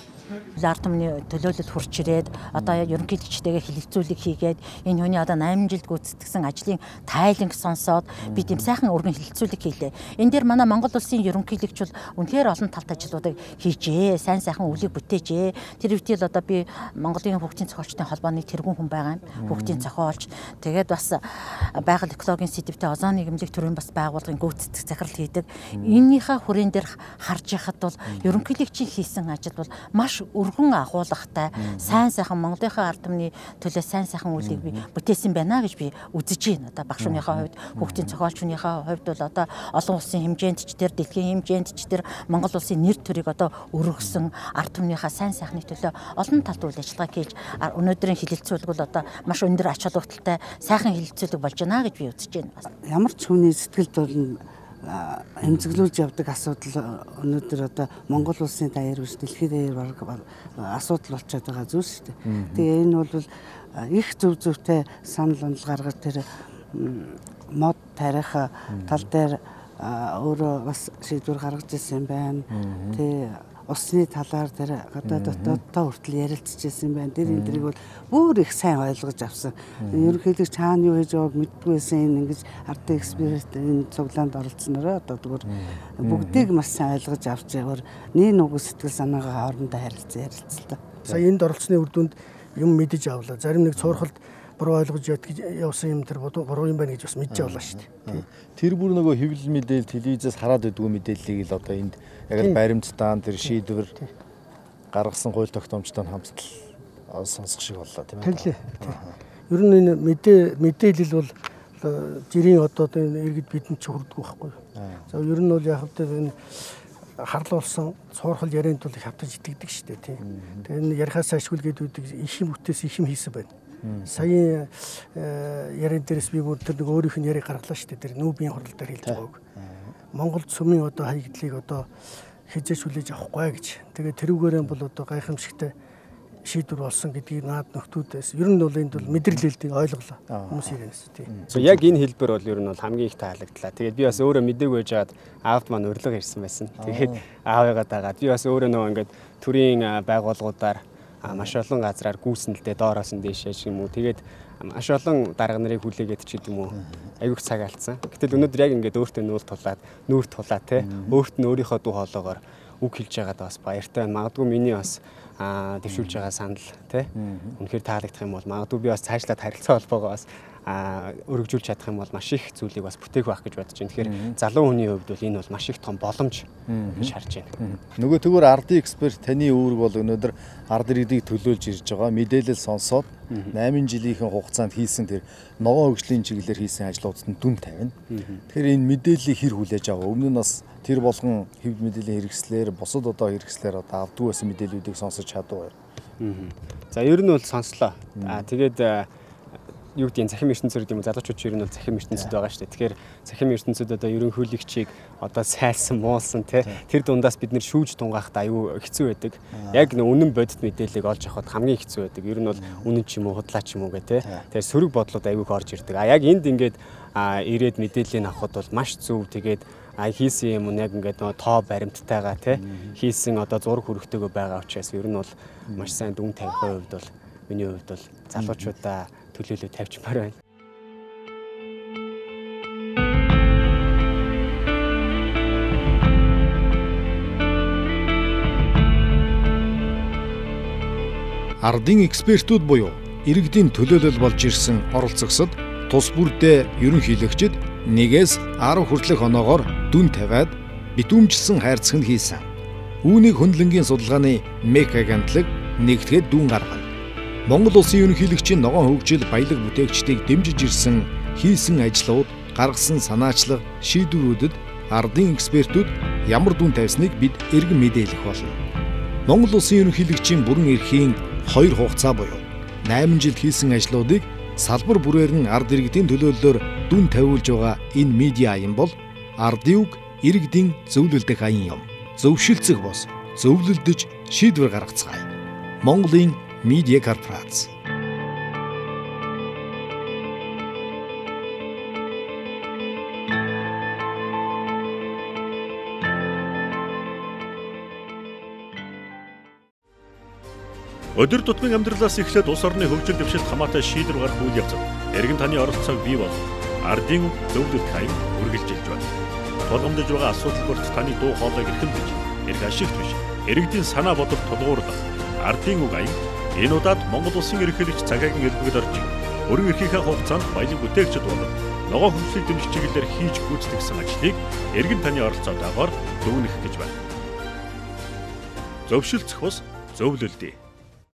Ард түмний төлөөлөл хурч ирээд одоо ерөнхийлөгчтэйгээ хилцүүлэг хийгээд энэ хүний одоо найман жилд гүйцэтгэсэн ажлын тайланг сонсоод би тийм сайхан өргөн хилцүүлэг хийлээ. Энэ дээр манай Монгол Улсын ерөнхийлөгч бол үнэхээр олон талт ажлуудыг хийжээ. Сайн сайхан үлийг бүтээжээ. Тэр үедээ одоо би Монголын хөгжлийн зохиолчдын холбооны тэргүүн хүн байгаа юм. Хөгжлийн зохиолч. Тэгээд бас байгаль экологийн сэдвтэй озоны эмнэлэг төрийн бас байгууллагын гүйцэтгэх захирал хийдэг. Энийхээ хүрээнд дээр харж яхад бол ерөнхийлөгчийн хийсэн ажил бол маш өргөн агуулгатай, сайн сайхан Монголынхаа ард түмний төлөө сайн сайхан үлийг би бүтээсэн байна гэж би үзэж байна. Одоо багш хүнийхээ хувьд, хүүхдийн зохиолчныхаа хувьд бол одоо олон улсын хэмжээнд ч тэр дэлхийн хэмжээнд ч тэр Монгол улсын нэр төрийг одоо өргөсөн ард түмнийхээ сайн сайхны төлөө олон талт үйл ажиллагаа хийж өнөөдрийн хилэлцүүлэг бол одоо маш өндөр ач холбогдолтой сайхан хилэлцүүлэг болж байна гэж би үзэж байна. Ямар ч хүний сэтгэлд бол эмзэглүүлж явдаг асуудал өнөөдөр одоо Монгол улсын даяар биш дэлхийн даяар баг асуудал болчиход байгаа зүйл шүү дээ. Тэгээ энэ бол их зөв зөвтэй санал онол гаргаж тэр мод тарих тал дээр өөрөө бас шийдвэр гаргаж ирсэн байна. Тэгээ усны талаар тэр гадаа дотооддоо хүртэл ярилцж ирсэн байна. Тэр энэ дэрийг бол бүр их сайн ойлгож авсан. Ерөнхийдөө чаана юу хийж байгааг мэддэггүйсэн энэ ингэж ардын эксперт энэ цуглаанд оролцснороо одоо зүгээр бүгдийг маш сайн ойлгож авч яваар нэг нүг сэтгэл санаагаа хоорондоо харилцан ярилцлаа. Сая энд оролцсны үр дүнд юм мэдэж авлаа. Зарим нэг цуурхалд буруу ойлгож явсан юм тэр буруу юм байна гэж бас мэдж авлаа шүү дээ. Тэр бүр нөгөө хэвлэл мэдээлэл телевизээс хараад байдгүй мэдээллийг л одоо энд яг л баримттай тэр шийдвэр гаргасан хууль тогтоомжтой хамтдал сонсох шиг боллоо тийм ээ. Ер нь энэ мэдээ мэдээлэл бол жирийн одоо энэ иргэд бидэнд ч хүрдэггүй байхгүй. За ер нь бол яг хэвээр энэ харлуулсан цуурхал ярианд бол их хавтаж итгэдэг шүү дээ тийм. Тэгээ энэ ярихаас ашгүй гэдэг их юм үтээс их юм хийсэн байна. Сая яриан дээрээс би бүр тэр нэг өөрийнх нь яриг гаргалаа шүү дээ. Тэр нүүбийн хурал дээр хэлж байгааг. Монголд сүмийн одоо хаягдлыг одоо хязгаарч хүлээж авахгүй гэж. Тэгээ тэрүүгээрээ бол одоо гайхамшигтай шийдвэр болсон гэдгийг наад нөхдүүдээс ер нь бол энд бол мэдрэлэлтийг ойлголоо хүмүүс ирэнэс тийм. Яг энэ хэлбэр бол ер нь бол хамгийн их таалагдлаа. Тэгээд би бас өөрөө мэдээгүй байжгаад аавд маань урилга ирсэн байсан. Тэгээд аавыгаа дагаад би бас өөрөө нөгөө ингээд төрийн байгууллагуудаар маш олон газраар гүйсэн л дээ доороос нь дээшээ юм уу. Тэгээд маш олон дарга нарыг хүлээгээд ч гэдэг юм уу. Аюух цаг алдсан. Гэтэл өнөөдөр яг ингээд өөртөө нүүр тулаад нүүр тулаа те. Өөрт нь өөрийнхөө дуу хоолоогоор үг хэлж байгаад бас баяртай байна. Магадгүй миний бас а дэвшүүлж байгаа санал тий үнэхээр таалагдах юм бол магадгүй би бас цаашлаад харилцаа холбоогоо бас а өргөжүүлж чадах юм бол маш их зүйлийг бас бүтээх байх гэж бодож байна. Тэгэхээр залуу хүний хувьд бол энэ бол маш их том боломж гэж харж байна. Нөгөө тэгвэр ардын эксперт таны үүрэг бол өнөөдөр ард иргэдийг төлөөлж ирж байгаа мэдээлэл сонсоод найман жилийнхэн хугацаанд хийсэн тэр ногоон хөгжлийн чиглэлээр хийсэн ажлуудад нь дүн тавина. Тэгэхээр энэ мэдээллийг хэр хүлээж аваа? Өмнө нь бас тэр болгон хэвлэл мэдээллийн хэрэгслэр бусад одоо хэрэгслэр одоо авдгүй байсан мэдээллүүдийг сонсож чадваа. За ер нь бол сонслоо. Аа тэгээд юу гэдэг нь захим ертөнцөд юм залуучууд ер нь бол захим ертөнцөд байгаа шүү дээ. Тэгэхээр захим ертөнцөд одоо ерөнхийлөгчийг одоо сайлсан муулсан тий тэр дундаас бид нэр шүүж тунгаахад аюу хэцүү байдаг. Яг нэг үнэн бодит мэдээллийг олж авахд хамгийн хэцүү байдаг. Ер нь бол үнэн ч юм уу худлаа ч юм уу гэх тий. Тэгэхээр сөрөг бодлууд аюуг орж ирдэг. А яг энд ингээд ирээд мэдээллийг авахд бол маш зөв тэгээд а хийсэн юм яг ингээд нөө тоо баримттайгаа тий хийсэн одоо зураг хүрэхтэйгөө байгаа учраас ер нь бол маш сайн дүн тавихын хувьд бол миний хувьд бол залуучуудаа төлөөлөө тавьчмаар байна. Ардын экспертүүд буюу иргэдийн төлөөлөл болж ирсэн оролцогсод тус бүрдээ ерөнхийлөгчд нэгээс арав хүртэлх оноогоор дүн тавиад битүүмжилсэн хайрцаг нь хийсэн. Үүнийг хөндлөнгийн судалгааны МЭК агентлаг нэгтгэхэд дүн гаргана. Монгол улсын ерөнхийлөгчийн ногоон хөгжил баялаг бүтээгчдийг дэмжиж ирсэн хийсэн ажлууд, гаргасан санаачлаг, шийдвэрүүдэд ардын экспертүүд ямар дүн тавьсныг бид эргэн мэдээлэх болно. Монгол улсын ерөнхийлөгчийн бүрэн эрхийн хоёр хугацаа буюу найман жил хийсэн ажлуудыг салбар бүрээр нь ард иргэдийн төлөөллөөр дүн тавиулж байгаа энэ медиа аян бол ардын үг иргэдийн зөвлөлдөх аян юм. Зөвшөлцөх бос, зөвлөлдөж шийдвэр гаргацгаая. Монголын медиа корпорац. Өдөр тутмын амьдралаас эхлээд улс орны хөгжил дэвшилт хамаатай шийдвэр гаргах үйл явцад эргэн таны оролцоог бий бол ардын зөвлөлт хаяг үргэлжилж байна. Тулгамдж байгаа асуудал бүрт таны дуу хоолойг эрхэмлэж, эрх ашигт биш, иргэдийн санаа бодол тулгуурлах ардын үг аян энэ удаад Монгол улсын ерөнхийлөгч цагаагийн элбэгд орж өргөн эрхийнхээ хугацаанд баялаг бүтээгчд болон ногоон хөгжлийн дэмжих чиглэлээр хийж гүйцэтгэсэн ажлыг эргэн таны оролцоотойгоор дүгнэх гэж байна. Зөвшөлдсөх бус зөвлөлдөө.